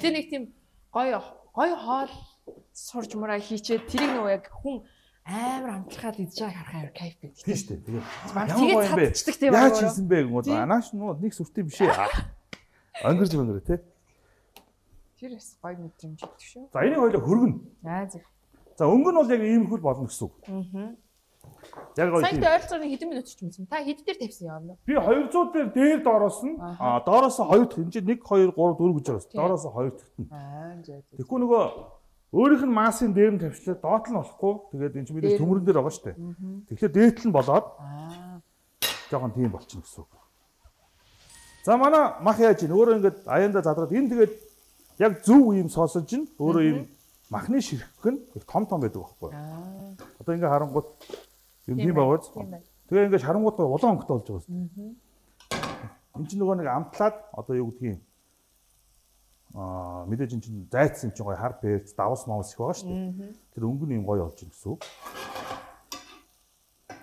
Speaker 2: Тэ нэг тийм гоё гоё хоол сурж мураа хийчээд тэрийг нөгөө яг хүн амар амтлахад идэж байгааг харах амар кайф байдаг.
Speaker 1: Тийм шүү дээ. Тэгээд
Speaker 2: тэгээд цадчдаг тийм
Speaker 1: байна. Яаж хийсэн бэ гэнэ? Анааш нуу нэг сүртэй биш ээ. Өнгөрж өнгөрөө тий.
Speaker 2: Тэр бас гоё мэдрэмж өгдөг шүү.
Speaker 1: За энийг хоёлоо хөргөнө.
Speaker 2: Аа зөв.
Speaker 1: За өнгө нь бол яг иймэрхүү болно гэсэн үг.
Speaker 2: Аа.
Speaker 1: Яг гоё.
Speaker 2: Сайн ойролцоогоор хэдэн минут ч юмсан. Та хэд дээр тавьсан юм бэ?
Speaker 1: Би двухсад дээр дээр доороос нь аа доороос хоёр дахь энэ чинь one two three four гэж байгаа. Доороос хоёр дахь нь.
Speaker 2: Аа зөө.
Speaker 1: Тэгэхгүй нөгөө өөрийнх нь массын дээр нь тавьчлаа доот нь болохгүй. Тэгээд энэ чинь мэдээж төмөрөн дээр байгаа шүү дээ. Тэгэхээр дээт нь болоод аа жоохон тийм болчихно гэсэн үг. За манай мах яаж ийн өөрөө ингээд аяанда задраад энэ тэгээд яг зөв ийм соосож ин өөрөө ийм махны ширхэг нь их том том байдаг байхгүй. Аа. Одоо ингээ харангууд юм тийм байгааз. Тэгээ ингээ харангууд улаан өнгөтэй болж байгаа юм. Энд чинь нөгөө нэг амтлаад одоо юу гэдгийг аа мэдээж энэ чинь зайцсан юм чинь гоё хар бэрц давс маус их байгаа шүү дээ. Тэр өнгө нь юм гоё болж байна гэсэн үг.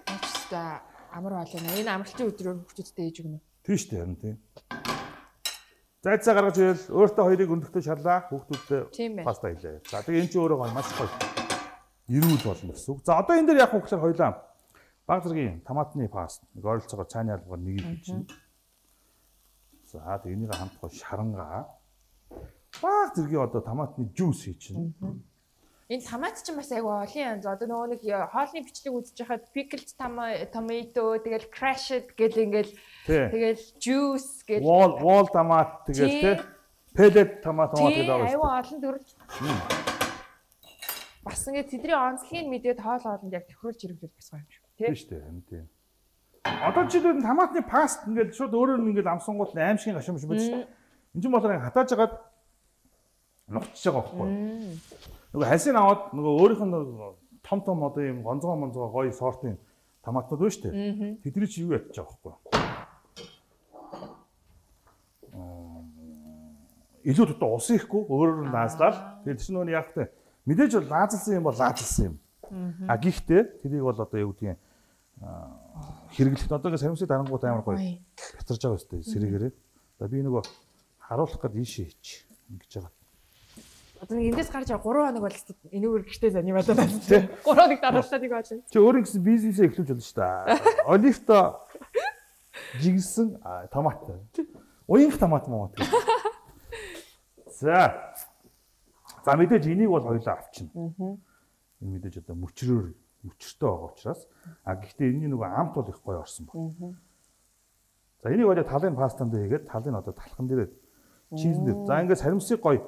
Speaker 2: Ачста амар болоо. Энэ амралтын өдрөөр хүүхдүүдтэй ээж өгнө.
Speaker 1: Тийм шүү дээ харин тийм. Зайцаа гаргаж ирэл өөртөө хоёрыг өндөртөө шарлаа хүүхдүүдтэй паста хийлээ. За тэгээ эн чинь өөрөө гоё маш гоё эрүүл болно гэсэн үг. За одоо энэ дээр яг хөөхлөр хоёлаа баг зэргийн томатны паст нэг ойролцоогоор цааны албаар нэг чинь. За тэгээ энийг хамт гоё шарангаа баг зэргийн одоо томатны жуус хий чинь.
Speaker 2: Энэ томат ч бас айгу олон янз. Одоо нөгөө нэг хоолны бичлэг үзэж хахад pickled tomato тэгэл crushed гэл ингээл тэгэл juice гэл
Speaker 1: wall wall томат тэгэл тэ pellet томат томат гэдэг байгаа.
Speaker 2: Айгу олон төрөл. Бас ингээд тэдний онцлогийг мэдээд хоол хоолнд яг тохируулж хэрэглэх гэсэн юм шүү.
Speaker 1: Тийм шүү дээ. Тийм. Одоо жишээлбэл томатны паст ингээд шууд өөрөө нь ингээд амсангуул аимшигын гашуун биш үү? Энд чинь болохоор хатааж агаад нугтж байгаа байхгүй. Нөгөө хальсыг аваад нөгөө өөрийнх нь том том одоо юм гонцгой монцгой гоё сортын томатууд байна шүү дээ. Тэдний чи юу ядчих байгаа байхгүй. Аа илүү төдөө ус ихгүй өөрөөр нь наазлал. Тэгээд чинь нөгөө яг тэ мэдээж бол лаазалсан юм бол лаазалсан юм. А гэхдээ тэрийг бол одоо юу гэдгийг хэрэглэхэд одоо ингээ сарамсыг дарангууд амар гоё бятарж байгаа өстэй сэрэгээрээ. За би нөгөө харуулах гээд ийшээ хийч ингэж байгаа.
Speaker 2: Одоо нэг эндээс гарч байгаа гурван хоног бол энэгээр гэртээ зани болоод байна. гурван хоног дараалал нэг байна.
Speaker 1: Чи өөрийн гэсэн бизнесээ эхлүүлж болно шүү дээ. Оливто жигсэн томат. Уянх томат муу. За. За мэдээж энийг бол хоёлаа авчна. Энэ мэдээж одоо мөчрөөр мөчөртэй байгаа учраас а гэхдээ энэний нөгөө амт бол их гоё орсон баг. За энийг одоо талын пастанд хийгээд талын одоо талхан дээр чизэн дээр. За ингээд саримсыг гоё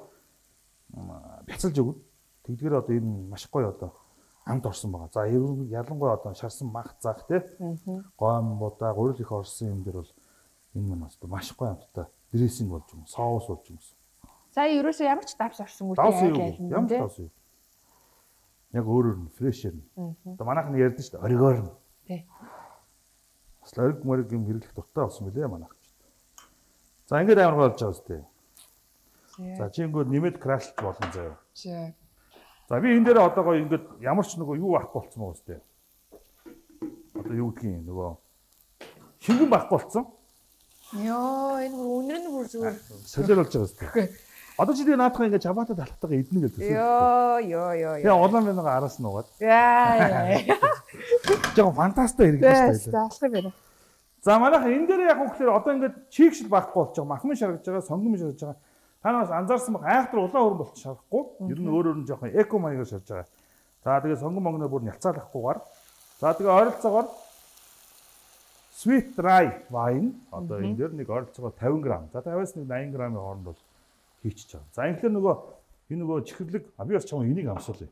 Speaker 1: бяцалж өгнө. Тэгдгээр одоо энэ маш гоё одоо амт орсон байгаа. За ялангуяа одоо шарсан мах заах те гом будаа гурил их орсон юм дээр бол энэ маань одоо маш гоё амттай дрессинг болж юм, соус болж юм.
Speaker 2: За ерөөсөө ямар ч давс орсонгүй
Speaker 1: те. Ямар ч давс юу. Яг өөрөөр нь фрешэр нь. Одоо манайх нь ярьдэн шүү дээ оригоор нь. Тий. Бас ориг мориг юм хэрэглэх дуртай болсон мөлий манайх. За ингээд амар болж байгаа үстэй. За чи ингээд нэмээд крашлж болно заяа.
Speaker 2: За.
Speaker 1: За би энэ дээр одоо гоё ингээд ямар ч нөгөө юу авахгүй болсон байгаа үстэй. Одоо юу гэдгийг нөгөө шингэн байхгүй болсон.
Speaker 2: Йоо энэ үнэр нь бүр зүгээр
Speaker 1: солиор болж байгаа үстэй. Одоо чи тэгээ наадах ингээд чабата талтайгаа идэнэ гэж төсөө.
Speaker 2: Йоо ёо ёо.
Speaker 1: Тэгээ улаан бинага араас нь угаад.
Speaker 2: Яа.
Speaker 1: Жоо фантастай хэрэглэж
Speaker 2: байна. За алах юм байна.
Speaker 1: За манайх энэ дээр яг хөөхлөөр одоо ингээд чигшил байхгүй болж байгаа. Махмын шаргаж байгаа, сонгом шаргаж байгаа. Та нараас анзаарсан баг айхтар улаан хөрөн болчих шарахгүй. Ер нь өөр өөр нь жоохон эко маягаар шарж байгаа. За тэгээ сонгом могноо бүр нялцаалахгүйгээр. За тэгээ ойролцоогоор sweet dry wine одоо энэ дээр нэг ойролцоогоор фifty грамм. За фifty-аас нэг ninety граммын хооронд бол хийчихэж байгаа. За инхээр нөгөө энэ нөгөө чихэрлэг а би бас чам энийг амсуулъя.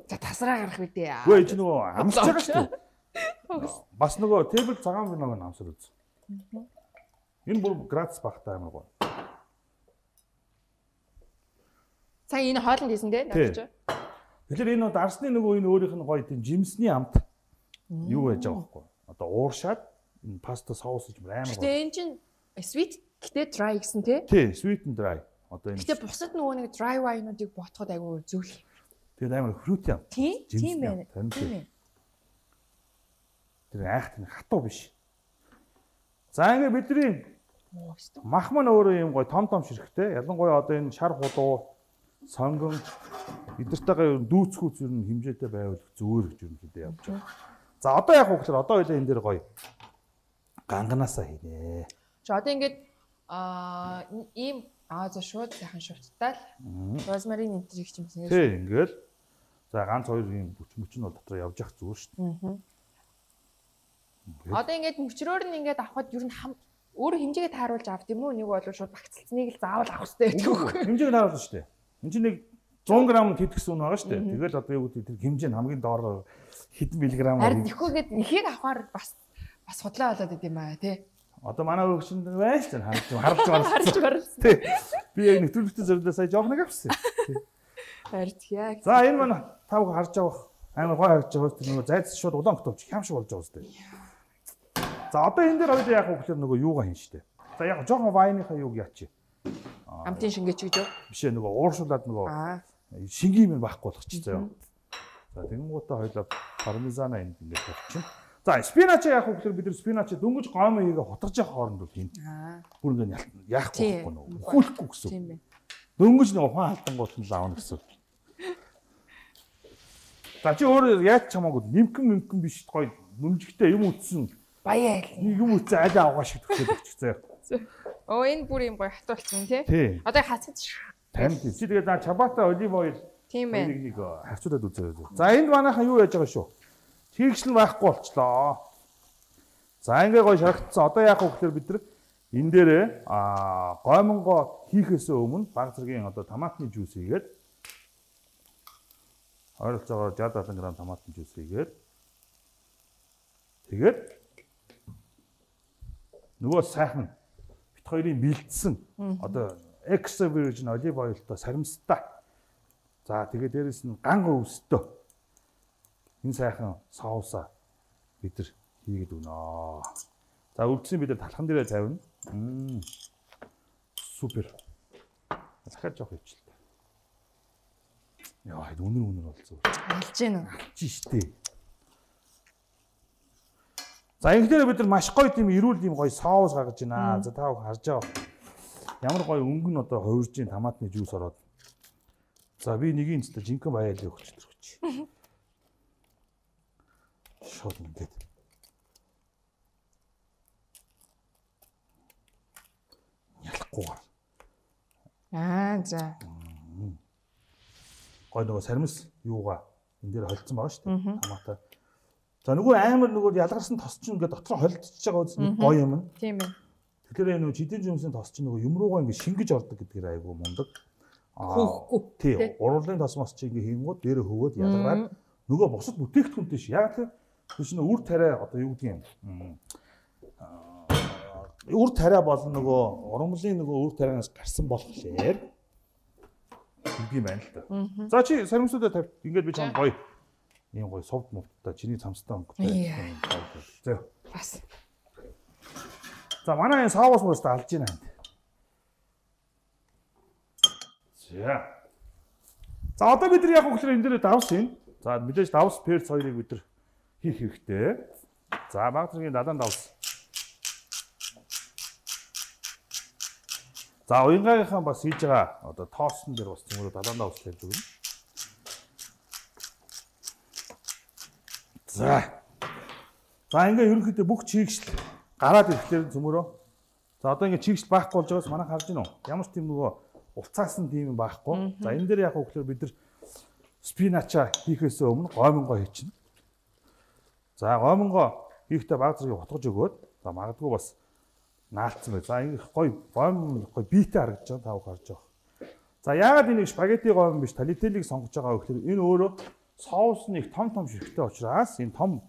Speaker 2: За тасраа гарах үедээ.
Speaker 1: Үгүй энэ нөгөө амсаж байгаа шүү дээ. Бас нөгөө тейбл цагаан биноог нь амсар үз. Энэ бүр градус багтаа амар гоё.
Speaker 2: Сая энэ хоолнд хийсэн дээ надад.
Speaker 1: Тэгэхээр энэ дарсны нөгөө энэ өөрийнх нь гоё тийм жимсний амт юу байж байгаа байхгүй. Одоо ууршаад энэ паста соус гэж амар гоё.
Speaker 2: Тэгээ энэ чинь sweet гэтээ dry гэсэн тий?
Speaker 1: Тий, sweet and dry. Одоо энэ.
Speaker 2: Гэтээ бусад нөгөө нэг dry wine-уудыг ботход айгүй зөвлөх.
Speaker 1: Тэгээд амар fruity амт.
Speaker 2: Тий, тийм байна. Тийм ээ.
Speaker 1: Тэр айхт нь хатуу биш. За ингээ бидний мах маань өөрөө юм гоё том том ширхтэй. Ялангуяа одоо энэ шар хулуу, сонгон эдэртэйгээ дүүцхүүц ер нь хэмжээтэй байвал зүгээр гэж ерөнхийдөө явж байгаа. За одоо яг хөөхлөр одоо хоёлаа энэ дээр гоё ганганаасаа хийнэ.
Speaker 2: Чи одоо ингээд аа ийм аа за шууд сайхан шууттай л розмарин энтриг ч юмсан.
Speaker 1: Тий, ингээл За ганц хоёр юм бүч мөч нь бол дотор явж явах зүгээр шүү дээ.
Speaker 2: Одоо ингээд мөчрөөр нь ингээд авахд ер нь өөр хэмжээгээ тааруулж авт юм уу? Нэг бол шууд багцлцныг л заавал авах хэрэгтэй гэдэг үү?
Speaker 1: Хэмжээг тааруулна шүү дээ. Энд чинь нэг зуун грамм тэтгэсэн үн байгаа шүү дээ. Тэгэл одоо юу гэдэг тэр хэмжээ нь хамгийн доор хэдэн миллиграмм.
Speaker 2: Харин ихгүйгээд ихийг авахаар бас бас судлаа болоод идэм аа тий.
Speaker 1: Одоо манай өгчөнд байж тань харж харж
Speaker 2: харж барсан.
Speaker 1: Тий. Би яг нэвтрүүлэгтээ зориулаад сая жоох нэг авсан.
Speaker 2: Харж яг.
Speaker 1: За энэ манай тав харж авах амар гой харж байгаа тэр нөгөө зайц шууд улаан готовч хям шиг болж байгаа үстэй. За одоо энэ дээр хоёул яах вэ гэхээр нөгөө юугаа хийн штэ. За яг жоохон вайныхаа юуг яач.
Speaker 2: Амтын шингээч гэж юу?
Speaker 1: Биш ээ нөгөө ууршуулад нөгөө шингийн юм байхгүй болох чи заяа. За тэгэнгүүтээ хоёул пармезана энд ингээд тавьчих. За спинач яах вэ гэхээр бид нар спинач дөнгөж гомоо хийгээ хутгаж явах хооронд бол хийн. Бүр ингээд яахгүй байхгүй нөгөө хүүлэхгүй гэсэн. Тийм ээ. Дөнгөж нөгөө ухаан халтангууд нь л аавна гэсэн. За чи өөр яаж чамаагүй нимкэн нимкэн биш гоё нүмжигтэй юм утсан.
Speaker 2: Баяа
Speaker 1: нэг юм утсан аль авгаа шиг төгсөж өгчээ.
Speaker 2: Оо энэ бүр юм гоё хат болсон тий. Одоо хацад
Speaker 1: тань чи тэгээд наа чабата олив ойл
Speaker 2: тийм ээ.
Speaker 1: Нэг нэг харьцуулаад үзээ. За энд манайхан юу яаж байгаа шүү. Чигшл байхгүй болчлоо. За ингээ гоё шаргацсан. Одоо яах вэ гэхээр бид нар энэ дээрээ аа гоймонго хийхээс өмнө баг зэргийн одоо томатны жуус хийгээд ойролцоогоор шестьдесят седем грамм томатны жуус хийгээд тэгээд нөгөө сайхан бит хоёрын бэлдсэн одоо extra virgin olive oil-той саримстай. За тэгээд дээрэс нь ганга өвстэй энэ сайхан соусаа бид нар хийгээд өгнө. За өвдсөн бид нар талхан дээрээ тавина. Мм. Супер. Захаад жоох өвчлээ. Яа, хэд үнэр үнэр болцсон.
Speaker 2: Алж гин үү?
Speaker 1: Алж штэ. За ингэдээр бид нар маш гоё тийм эрүүл тийм гоё соус гаргаж байна. За та харж байгаа. Ямар гоё өнгө нь одоо хувирж ин томатны жуус ороод. За би нэгийн цэстэ жинхэнэ баяалаа өгч төрөч. Шууд ингээд. Ялахгүй.
Speaker 2: Аа за.
Speaker 1: Гой нөгөө саримс юугаа энэ дээр холцсон байгаа шүү дээ. Томатаа. За нөгөө амар нөгөө ялгарсан тос чинь ингээд дотор холдчихж байгаа үс гоё юм.
Speaker 2: Тийм ээ.
Speaker 1: Тэгэхээр нөгөө жидэн жимсийн тос чинь нөгөө юм руугаа ингээд шингэж ордог гэдгээр айгүй мундаг.
Speaker 2: Хөөхгүй.
Speaker 1: Тий. Уруулын тос мос чинь ингээд хийнгууд дээрээ хөвөөд ялгараад нөгөө бусад бүтээгдэхүүнтэй ш. Яг тэр чинь үр тариа одоо юу гэдгийг юм. Үр тариа болон нөгөө ургамлын нөгөө үр тарианаас гарсан болохоор юм байна л да. За чи саримсуудаа тавь. Ингээд би чам гоё ийм гоё совд мовттой чиний цамцтай өнгөтэй. За.
Speaker 2: Бас.
Speaker 1: За манай энэ соус мөст алж байна. За. За одоо бид нар яг хөглөр энэ дээр давс юм. За мэдээж давс перц хоёрыг бид нар хийх хэрэгтэй. За баг зэргийн дадаан давс. За уянгаагийнхаа бас хийж байгаа одоо тоосон дээр бас цөмөрөө дадаан давс тавьж өгнө. За. За ингээ ерөнхийдөө бүх чигшл гараад ирэхлээр цөмөрөө. За одоо ингээ чигшл байхгүй болж байгаас манайх харж байна уу? Ямар ч тийм нөгөө уцаасан тийм юм байхгүй. За энэ дээр яг хөглөр бид нар спинача хийхээс өмнө гоймонго хийчихнэ. За гоймонго хийхдээ баг зэрэг утгаж өгөөд за магадгүй бас наалцсан бай. За ингэ гоё гойм гоё биетэй харагдаж байгаа тав харж байгаа. За яагаад энийг спагетти гойм биш талителийг сонгож байгаа вэ гэхээр энэ өөрөө соус нь их том том ширхтэй учраас энэ том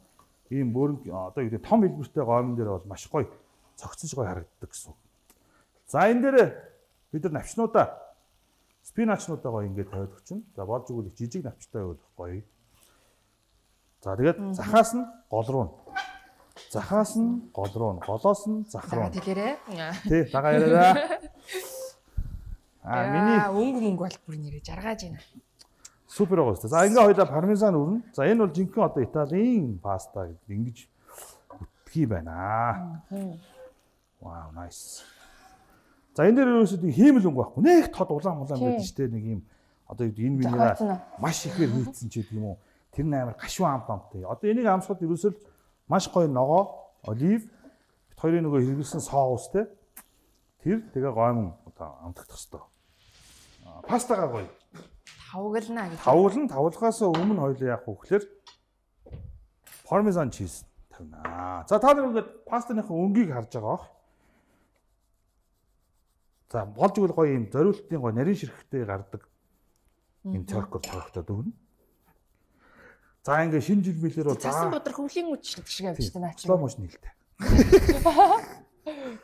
Speaker 1: ийм бөөрн одоо юу гэдэг том хэлбэртэй гоймн дээр бол маш гоё цогцож гоё харагддаг гэсэн. За энэ дээр бид нар навчнуудаа спиначнуудаа гоё ингээд тавиад өгчин. За болж өгвөл их жижиг навчтай байвал гоё. За тэгээд захаас нь гол руу. Захаас нь гол руу, голоос нь зах руу.
Speaker 2: Тэгээрээ.
Speaker 1: Тий, дагаа яриараа. Аа, миний
Speaker 2: өнгө мөнгө бол бүр нэрээ жаргаж байна.
Speaker 1: Супер байгаа шүү. За ингээ хоёлаа пармезан өрнө. За энэ бол жинхэнэ одоо Италийн паста гэдэг ингэж үтгий байна. Вау, nice. За энэ дээр ерөөсөө хиймэл өнгө байхгүй. Нэг тод улаан улаан байдаг шүү дээ. Нэг юм одоо энэ минерал маш ихээр хийцэн ч гэдэг юм уу. Тэр нээр гашуун амт амттай. Одоо энийг амсахад ерөөсөө маш гоё ногоо, олив, бит хоёрын нөгөө хэрэглэсэн соус те. Тэр тэгээ гоймон одоо амтагдах хэвээр. Пастагаа гоё.
Speaker 2: Тавгална гэж.
Speaker 1: Тавгална, тавлахаас өмнө хоёул яах вэ гэхээр пармезан чиз тавина. За та нар ингээд пастанийхаа өнгийг харж байгаа бох. За болж игэл гоё юм зориултын гоё нарийн ширхэгтэй гардаг юм цоркор цорогтой дөгнө. За ингээ шинэ жил мэлээр бол
Speaker 2: цасан бодрох хөвлийн үдшилт шиг явж байна наач.
Speaker 1: Слоу мошн хэлтэй.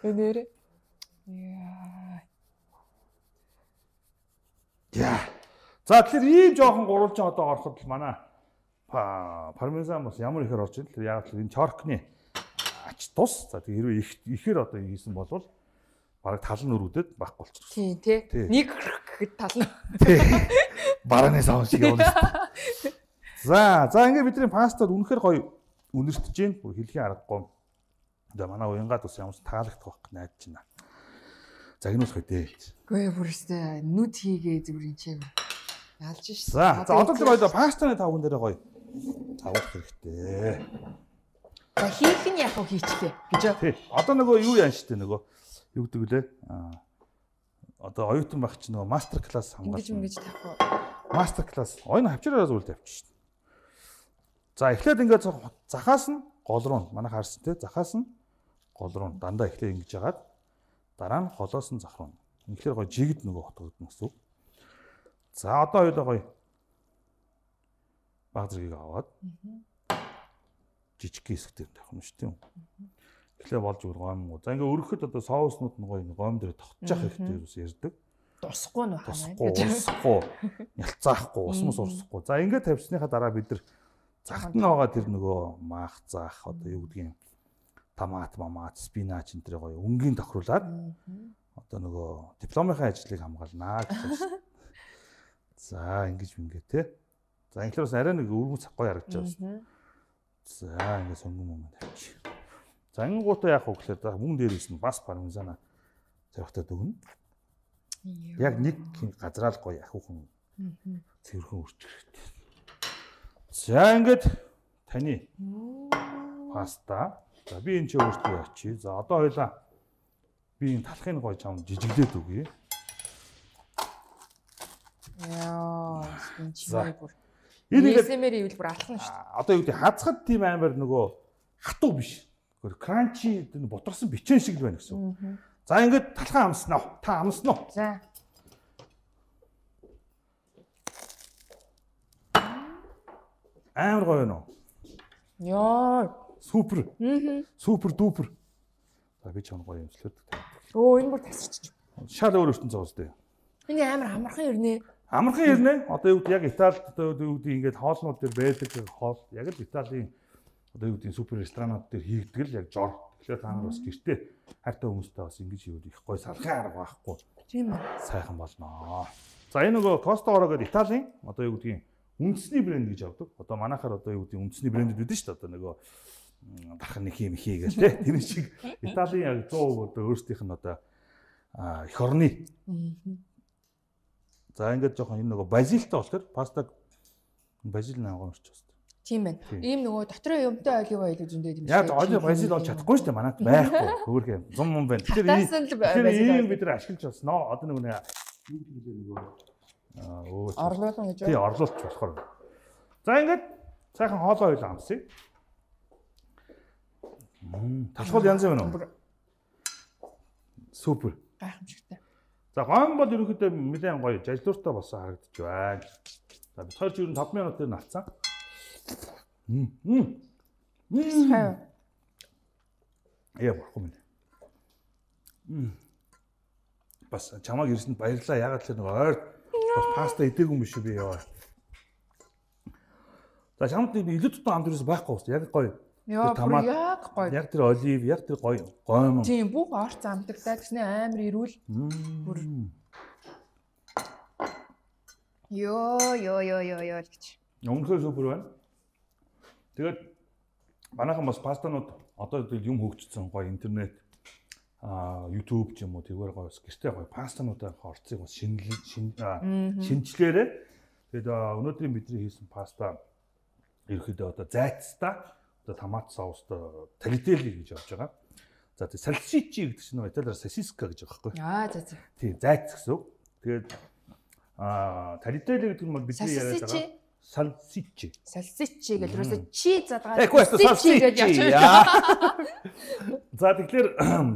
Speaker 2: Өнөөрэ. Яа.
Speaker 1: Яа. За тэгэхээр ийм жоохон гурвалжин одоо ороход л манай пармезан бас ямар ихээр орж ийн. Тэгэхээр яг л энэ чоркны ач тус. За тэгээ хэрвээ их ихээр одоо хийсэн болвол бараг тал нь өргөдөд байхгүй болчихсон.
Speaker 2: Тийм тий. Нэг гэхэд тал нь.
Speaker 1: Тий. Барааны савн шиг явна. За, за ингээ бидний пастад үнэхээр гоё үнэртэж гин. Бүр хэлхийн аргагүй. За манай уянгаад бас ямарч таалагдах байх найдаж байна. Загнуулах үедээ.
Speaker 2: Гүй бүрстэй нүд хийгээ зүрийн чим. Ялж ш.
Speaker 1: За, за одоо тэр гоё пастаны тавган дээр гоё тавуулах хэрэгтэй.
Speaker 2: За хийх нь яг уу хийчлээ гэж.
Speaker 1: Тий. Одоо нөгөө юу яан штэ нөгөө юу гэдэг лээ? Аа одоо оюутан байх чинь нөгөө мастер класс хамгаалсан.
Speaker 2: Ингэж ингэж тавих уу?
Speaker 1: Мастер класс. Ойн хавчраараа зүйл тавьчих шин. За эхлээд ингээд захаас нь гол руу манай харсан те захаас нь гол руу дандаа эхлээд ингэж яагаад дараа нь холоос нь зах руу. Үнэхээр гоё жигд нөгөө хотгодно гэсэн үг. За одоо хоёулаа гоё баг зэргийг аваад жижиг хэсэгтэр тавих юм шүү дээ. Эхлээ болж өгөх гомгоо. За ингээ өргөхөд одоо соуснууд нь гоё гом дээр тогтчих хэрэгтэй юус ярьдаг.
Speaker 2: Дусахгүй нь байна.
Speaker 1: Усахгүй, нялцаахгүй, ус мус урсахгүй. За ингээ тавьсныхаа дараа бид нар загт нь байгаа тэр нөгөө маах заах одоо юу гэдгийг томат, мамат, спинач энэ тэр гоё өнгийн тохируулаад одоо нөгөө дипломынхаа ажлыг хамгаалнаа гэж байна. За ингэж ингээ те. За инглээс арай нэг өргөн цаг гоё харагдаж байна. За ингээ сонгон мөнгө тавьчих. За ангуудаа яах вэ гэхээр мөн дээрээс нь бас пармезана тавихтаа дөгнө. Яг нэг газраа л гоё ахиухан цэвэрхэн үрчих хэрэгтэй. За ингээд таны паста. За би энэ ч өөртөө ячи. За одоо хоёлаа би энэ талхын гоё чам жижиглээд өгье.
Speaker 2: Яа, энэ чинь бүр.
Speaker 1: Энэ
Speaker 2: эсэмэр ивэл бүр алхна шүү дээ.
Speaker 1: Одоо юу гэдэг хацхад тийм амар нөгөө хатуу биш. Гэр кранчи энэ бутарсан бичэн шиг л байна гэсэн. За ингээд талхаа амснаа. Та амснаа.
Speaker 2: За.
Speaker 1: Амар гоё нөө.
Speaker 2: Яа.
Speaker 1: Супер.
Speaker 2: Аа.
Speaker 1: Супер дупер. За би ч юм гоё юмслээд.
Speaker 2: Өө энэ бүр тасарч.
Speaker 1: Шал өөр ертөнц зоос дээ.
Speaker 2: Энэ амар амархан ирнэ.
Speaker 1: Амархан ирнэ. Одоо юу гэдэг яг Италид одоо юу гэдэг ингээд хоолнууд дээр байдаг хоол яг л Италийн одоо юу гэдэг супер ресторанууд дээр хийгдэг л яг жор. Тэгэхээр та нар бас гэртээ хайртай хүмүүстэй бас ингэж юу их гоё салхын арга байхгүй.
Speaker 2: Тийм үү.
Speaker 1: Сайхан болноо. За энэ нөгөө Костогоро гэдэг Италийн одоо юу гэдгийг үндэсний брэнд гэж авдаг. Одоо манайхаар одоо юу гэдэг үндэсний брэндүүд үүдэн шүү дээ. Одоо нөгөө дархан нэг юм хий гэл тэ. Тэр шиг Италийн яг цоо одоо өөрсдийнх нь одоо эх орны. За ингээд жоохон энэ нөгөө базилтай болохоор пастаг базил нааган орч байна.
Speaker 2: Тийм байна. Ийм нөгөө дотроо юмтай олив ойл зөндөө юм шиг.
Speaker 1: Яг олив базил болж чадахгүй шүү дээ. Манайд байхгүй. Хөөрхөн зам юм байна. Тэгэхээр ийм бид нар ашиглаж басноо. Одоо нөгөө юу гэдэг нөгөө өө
Speaker 2: орлуулсан гэж.
Speaker 1: Тий, орлуулч болохоор. За ингээд сайхан хоолоо ойл амсъя. Мм, талхал янз байна уу? Супер.
Speaker 2: Гайхамшигтай.
Speaker 1: За гом бол ерөнхийдөө нэлээд гоё жажлууртай болсон харагдаж байна. За бид хоёр ч ер нь таван минутын навцсан. Мм. Мм. Яа болохгүй минь. Мм. Бас чамааг ирсэнд баярлалаа. Ягаад ч нэг ойр бас паста идээгүй юм биш би яа. За чамд нэг илүү тутан амт ерөөс байхгүй бас яг гоё.
Speaker 2: Яа, яг гоё.
Speaker 1: Яг тэр олив, яг тэр гоё гойм.
Speaker 2: Тийм бүх орц амтагтай гэснэ амар ирүүл. Бүр. Йоо, ёо, ёо, ёо, ёо гэж.
Speaker 1: Өмнөхөө супер байна. Тэгээд манайхан бас пастанууд одоо юм хөгжсөн гоё интернет а YouTube ч юм уу тэгвэр гоё гэртээ гоё пастануудаа орцыг бас шинэ шинжлээрээ тэгээд өнөөдрийн бидний хийсэн паста ерөөхдөө одоо зайцтай одоо томат соустой талителли гэж явж байгаа. За тэгээд сальсичи гэдэг чинь италиар сосиска гэж байгаа байхгүй.
Speaker 2: Аа за за.
Speaker 1: Тийм зайц гэсэн үг. Тэгээд Аа, талителли гэдэг нь бол бидний яриад байгаа салсичи.
Speaker 2: Салсичи гэж юусоо чи задгаад
Speaker 1: салсичи гэж явчихсан. За тэгэхээр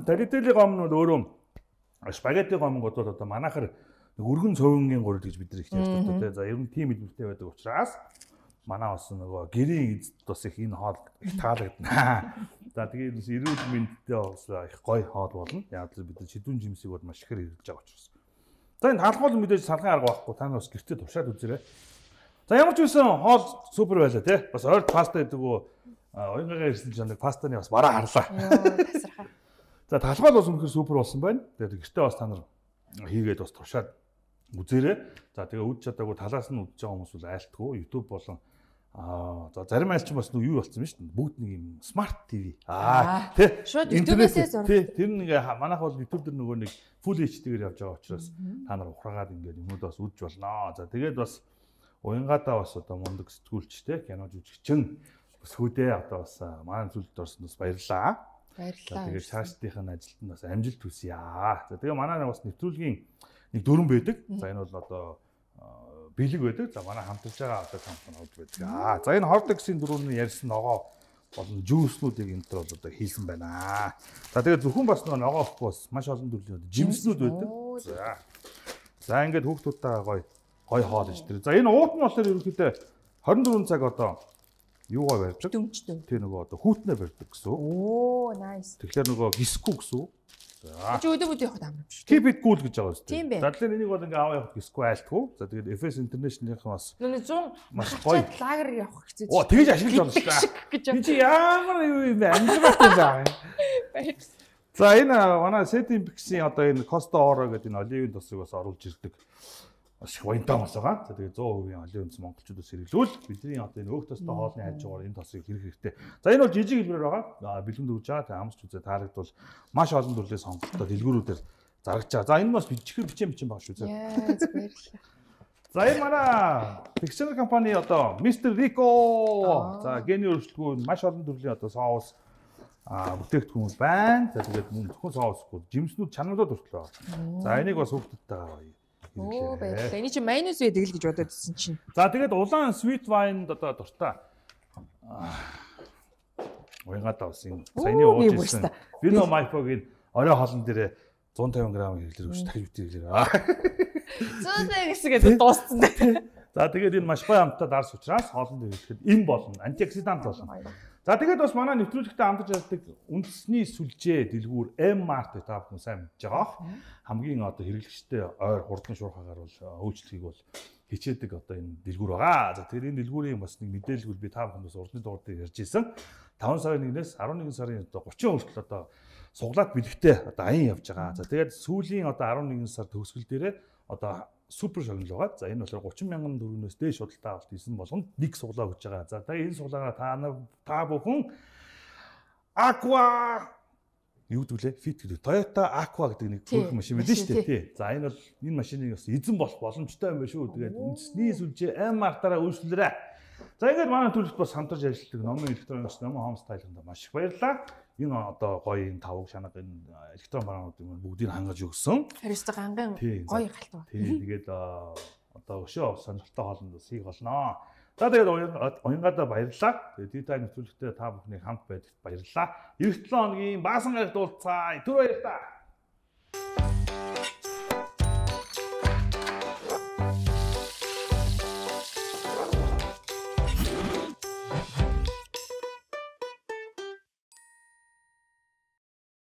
Speaker 1: талителли гом нь өөрөө спагетти гомгод бол одоо манайхаар өргөн цовингийн гурил гэж бид нар их ярьдаг тийм. За ер нь тийм хэлбэртэй байдаг учраас манай бас нөгөө гэрийн эзэд бас их энэ хоол их таалагдана. За тэгээд эрүүл мэндтэй бас их гоё хоол болно. Яг л бид шидүүн жимсийг бол маш ихээр хэрэглэж байгаа учраас. За энэ талхуул мэдээж салхан арга байхгүй. Та нар бас гэртээ туршаад үзээрэй. За ямар ч үсэн хоол супер байлаа тий. Бас ойр паста гэдэг үү оюунгаа ирсэн ч нэг пастаны бас бараа харлаа. За талхуул бас үнэхээр супер болсон байна. Тэгээд гэртээ бас та нар хийгээд бас туршаад үзээрэй. За тэгээ үд чадаагүй талаас нь үзэж байгаа хүмүүс бол айлтгүй YouTube болон аа за зарим айлч бас юу болсон юм шүү дээ. Бүгд нэг юм смарт ТV. Аа тий.
Speaker 2: Шууд YouTube-ээс зураг.
Speaker 1: Тий. Тэр нэг манайх бол YouTube дээр нөгөө нэг Full эйч ди-гээр явж байгаа учраас та нар ухраагаад ингээд юмуд бас үзэж болно. За тэгээд бас уянгаадаа бас одоо мундаг сэтгүүлчтэй кино жүжигчин бас хүүдээ одоо бас маань зүйлд орсон бас баярлалаа.
Speaker 2: Баярлалаа.
Speaker 1: Тэгээд цаашдынхаа ажилд нь бас амжилт хүсье. За тэгээ манай бас нэвтрүүлгийн нэг дөрөн байдаг. За энэ бол одоо бэлэг байдаг. За манай хамтарч байгаа одоо компани хол байдаг. Аа за энэ Hortex-ийн дөрөвний ярьсан ногоо болон жүүснүүдийг энэ төр бол одоо хийсэн байна. За тэгээд зөвхөн бас ногоо бас маш олон төрлийн жимснүүд байдаг. За. За ингээд хүүхдүүдтэйгээ гоё гоё хоол иж тэр. За энэ уут нь болохоор ерөнхийдөө хорин дөрвөн цаг одоо юугаар барьдаг?
Speaker 2: Дүмжтэй.
Speaker 1: Тэр нөгөө одоо хүүтнээ барьдаг гэсэн.
Speaker 2: Оо, nice.
Speaker 1: Тэгэхээр нөгөө гиску гэсэн. За.
Speaker 2: Чи өдөө өдөө явахад амар биш.
Speaker 1: Keep it cool гэж байгаа үстэй.
Speaker 2: Тийм бэ.
Speaker 1: За тэгэхээр энийг бол ингээ аваа явах гиску айлтгүй. За тэгээд эф эс International-ийн бас
Speaker 2: нүг цун
Speaker 1: маш гоё
Speaker 2: лагер явах хэцүү.
Speaker 1: Оо тэгж ашиглаж байна шүү дээ. Би чи ямар юу юм бэ? Амжилттай заа. За энэ манай Setting Pix-ийн одоо энэ Costa Oro гэдэг энэ оливын тосыг бас оруулж ирдэг. Маш их баянтай бас байгаа. За тэгээд сто процент оливын тос монголчуудаас хэрэглүүл бидний одоо энэ өөх тостой хоолны хажуугаар энэ тосыг хэрэг хэрэгтэй. За энэ бол жижиг хэлбэрээр байгаа. Бэлгэнд өгж байгаа. Тэгээд амсч үзээ таалагдвал маш олон төрлийн сонголттой дэлгүүрүүдээр зарагч байгаа. За энэ бас бичихэр бичэн бичэн байгаа шүү зэ.
Speaker 2: Яа баярлалаа.
Speaker 1: За энэ манай Pixel компани одоо мистер Rico. За гений өршөлтгүй маш олон төрлийн одоо соус а бүтээгдэхүүн байна. За тэгээд мөн зөвхөн соусгүй жимснүүд чанарууд хүртэл байна. За энийг бас хүүхдүүдтэй
Speaker 2: Оо баярлалаа. Эний чи майонез байдаг л гэж бодоод ирсэн чинь.
Speaker 1: За тэгээд улаан sweet wine-д одоо дуртай. Уянгаад авсан. Саяны ууж ирсэн. Vino Maipo-гийн орой хоолн дээрээ one fifty грамм хэрэглэр өгч дахиж битээ хэрэглэр.
Speaker 2: зөндөө гэсгээд дууссан дээ.
Speaker 1: За тэгээд энэ маш гоё амттай дарс учраас хоолнд хэрэглэхэд эм болно, антиоксидант болно. За тэгээд бас манай нэвтрүүлэгтээ хамтарч ярьдаг үндэсний сүлжээ дэлгүүр M-Mart та бүхэн сайн мэдж байгаа. Хамгийн одоо хэрэглэгчтэй ойр хурдан шуурхагаар бол өөрчлөлтийг бол хичээдэг одоо энэ дэлгүүр байгаа. За тэр энэ дэлгүүрийн бас нэг мэдээлэл би та бүхэнд бас урдны дугаар дээр ярьж ирсэн. таван сарын нэгнээс eleven сарын одоо thirty хүртэл одоо суглаад бэлэгтэй одоо аян явж байгаа. За тэгээд сүүлийн одоо eleven сар төгсгөл дээрээ одоо супер шагнал байгаа. За энэ болохоор thirty мянган төгрөгнөөс дээш худалдаа авалт хийсэн болгонд нэг суглаа өгч байгаа. За тэгээд энэ суглаагаа та та бүхэн Aqua юу гэвэл Fit гэдэг Toyota Aqua гэдэг нэг хөрх машин байдаг шүү дээ. Тий. За энэ бол энэ машиныг бас эзэн болох боломжтой юм байна шүү. Тэгээд үндэсний сүлжээ M-Mart-аараа үйлчлүүлээрэй. За ингээд манай төлөвт бас хамтарч ажилладаг номын электроникс номын Home Style-д маш их баярлалаа. Энэ одоо гоё энэ тавг шанаг энэ электрон бараануудыг бүгдийг хангаж өгсөн.
Speaker 2: Хариуцлага гангийн гоё галтаа.
Speaker 1: Тий, тэгээд одоо өшөө сонирхолтой хоолнд бас хийх болно. За тэгээд уянгаадаа баярлалаа. Тэгээд Tea-Time нэвтрүүлэгтээ та бүхний хамт байдагт баярлалаа. эх seven хоногийн баасан гарагт уулзцаа. Түр баярлалаа.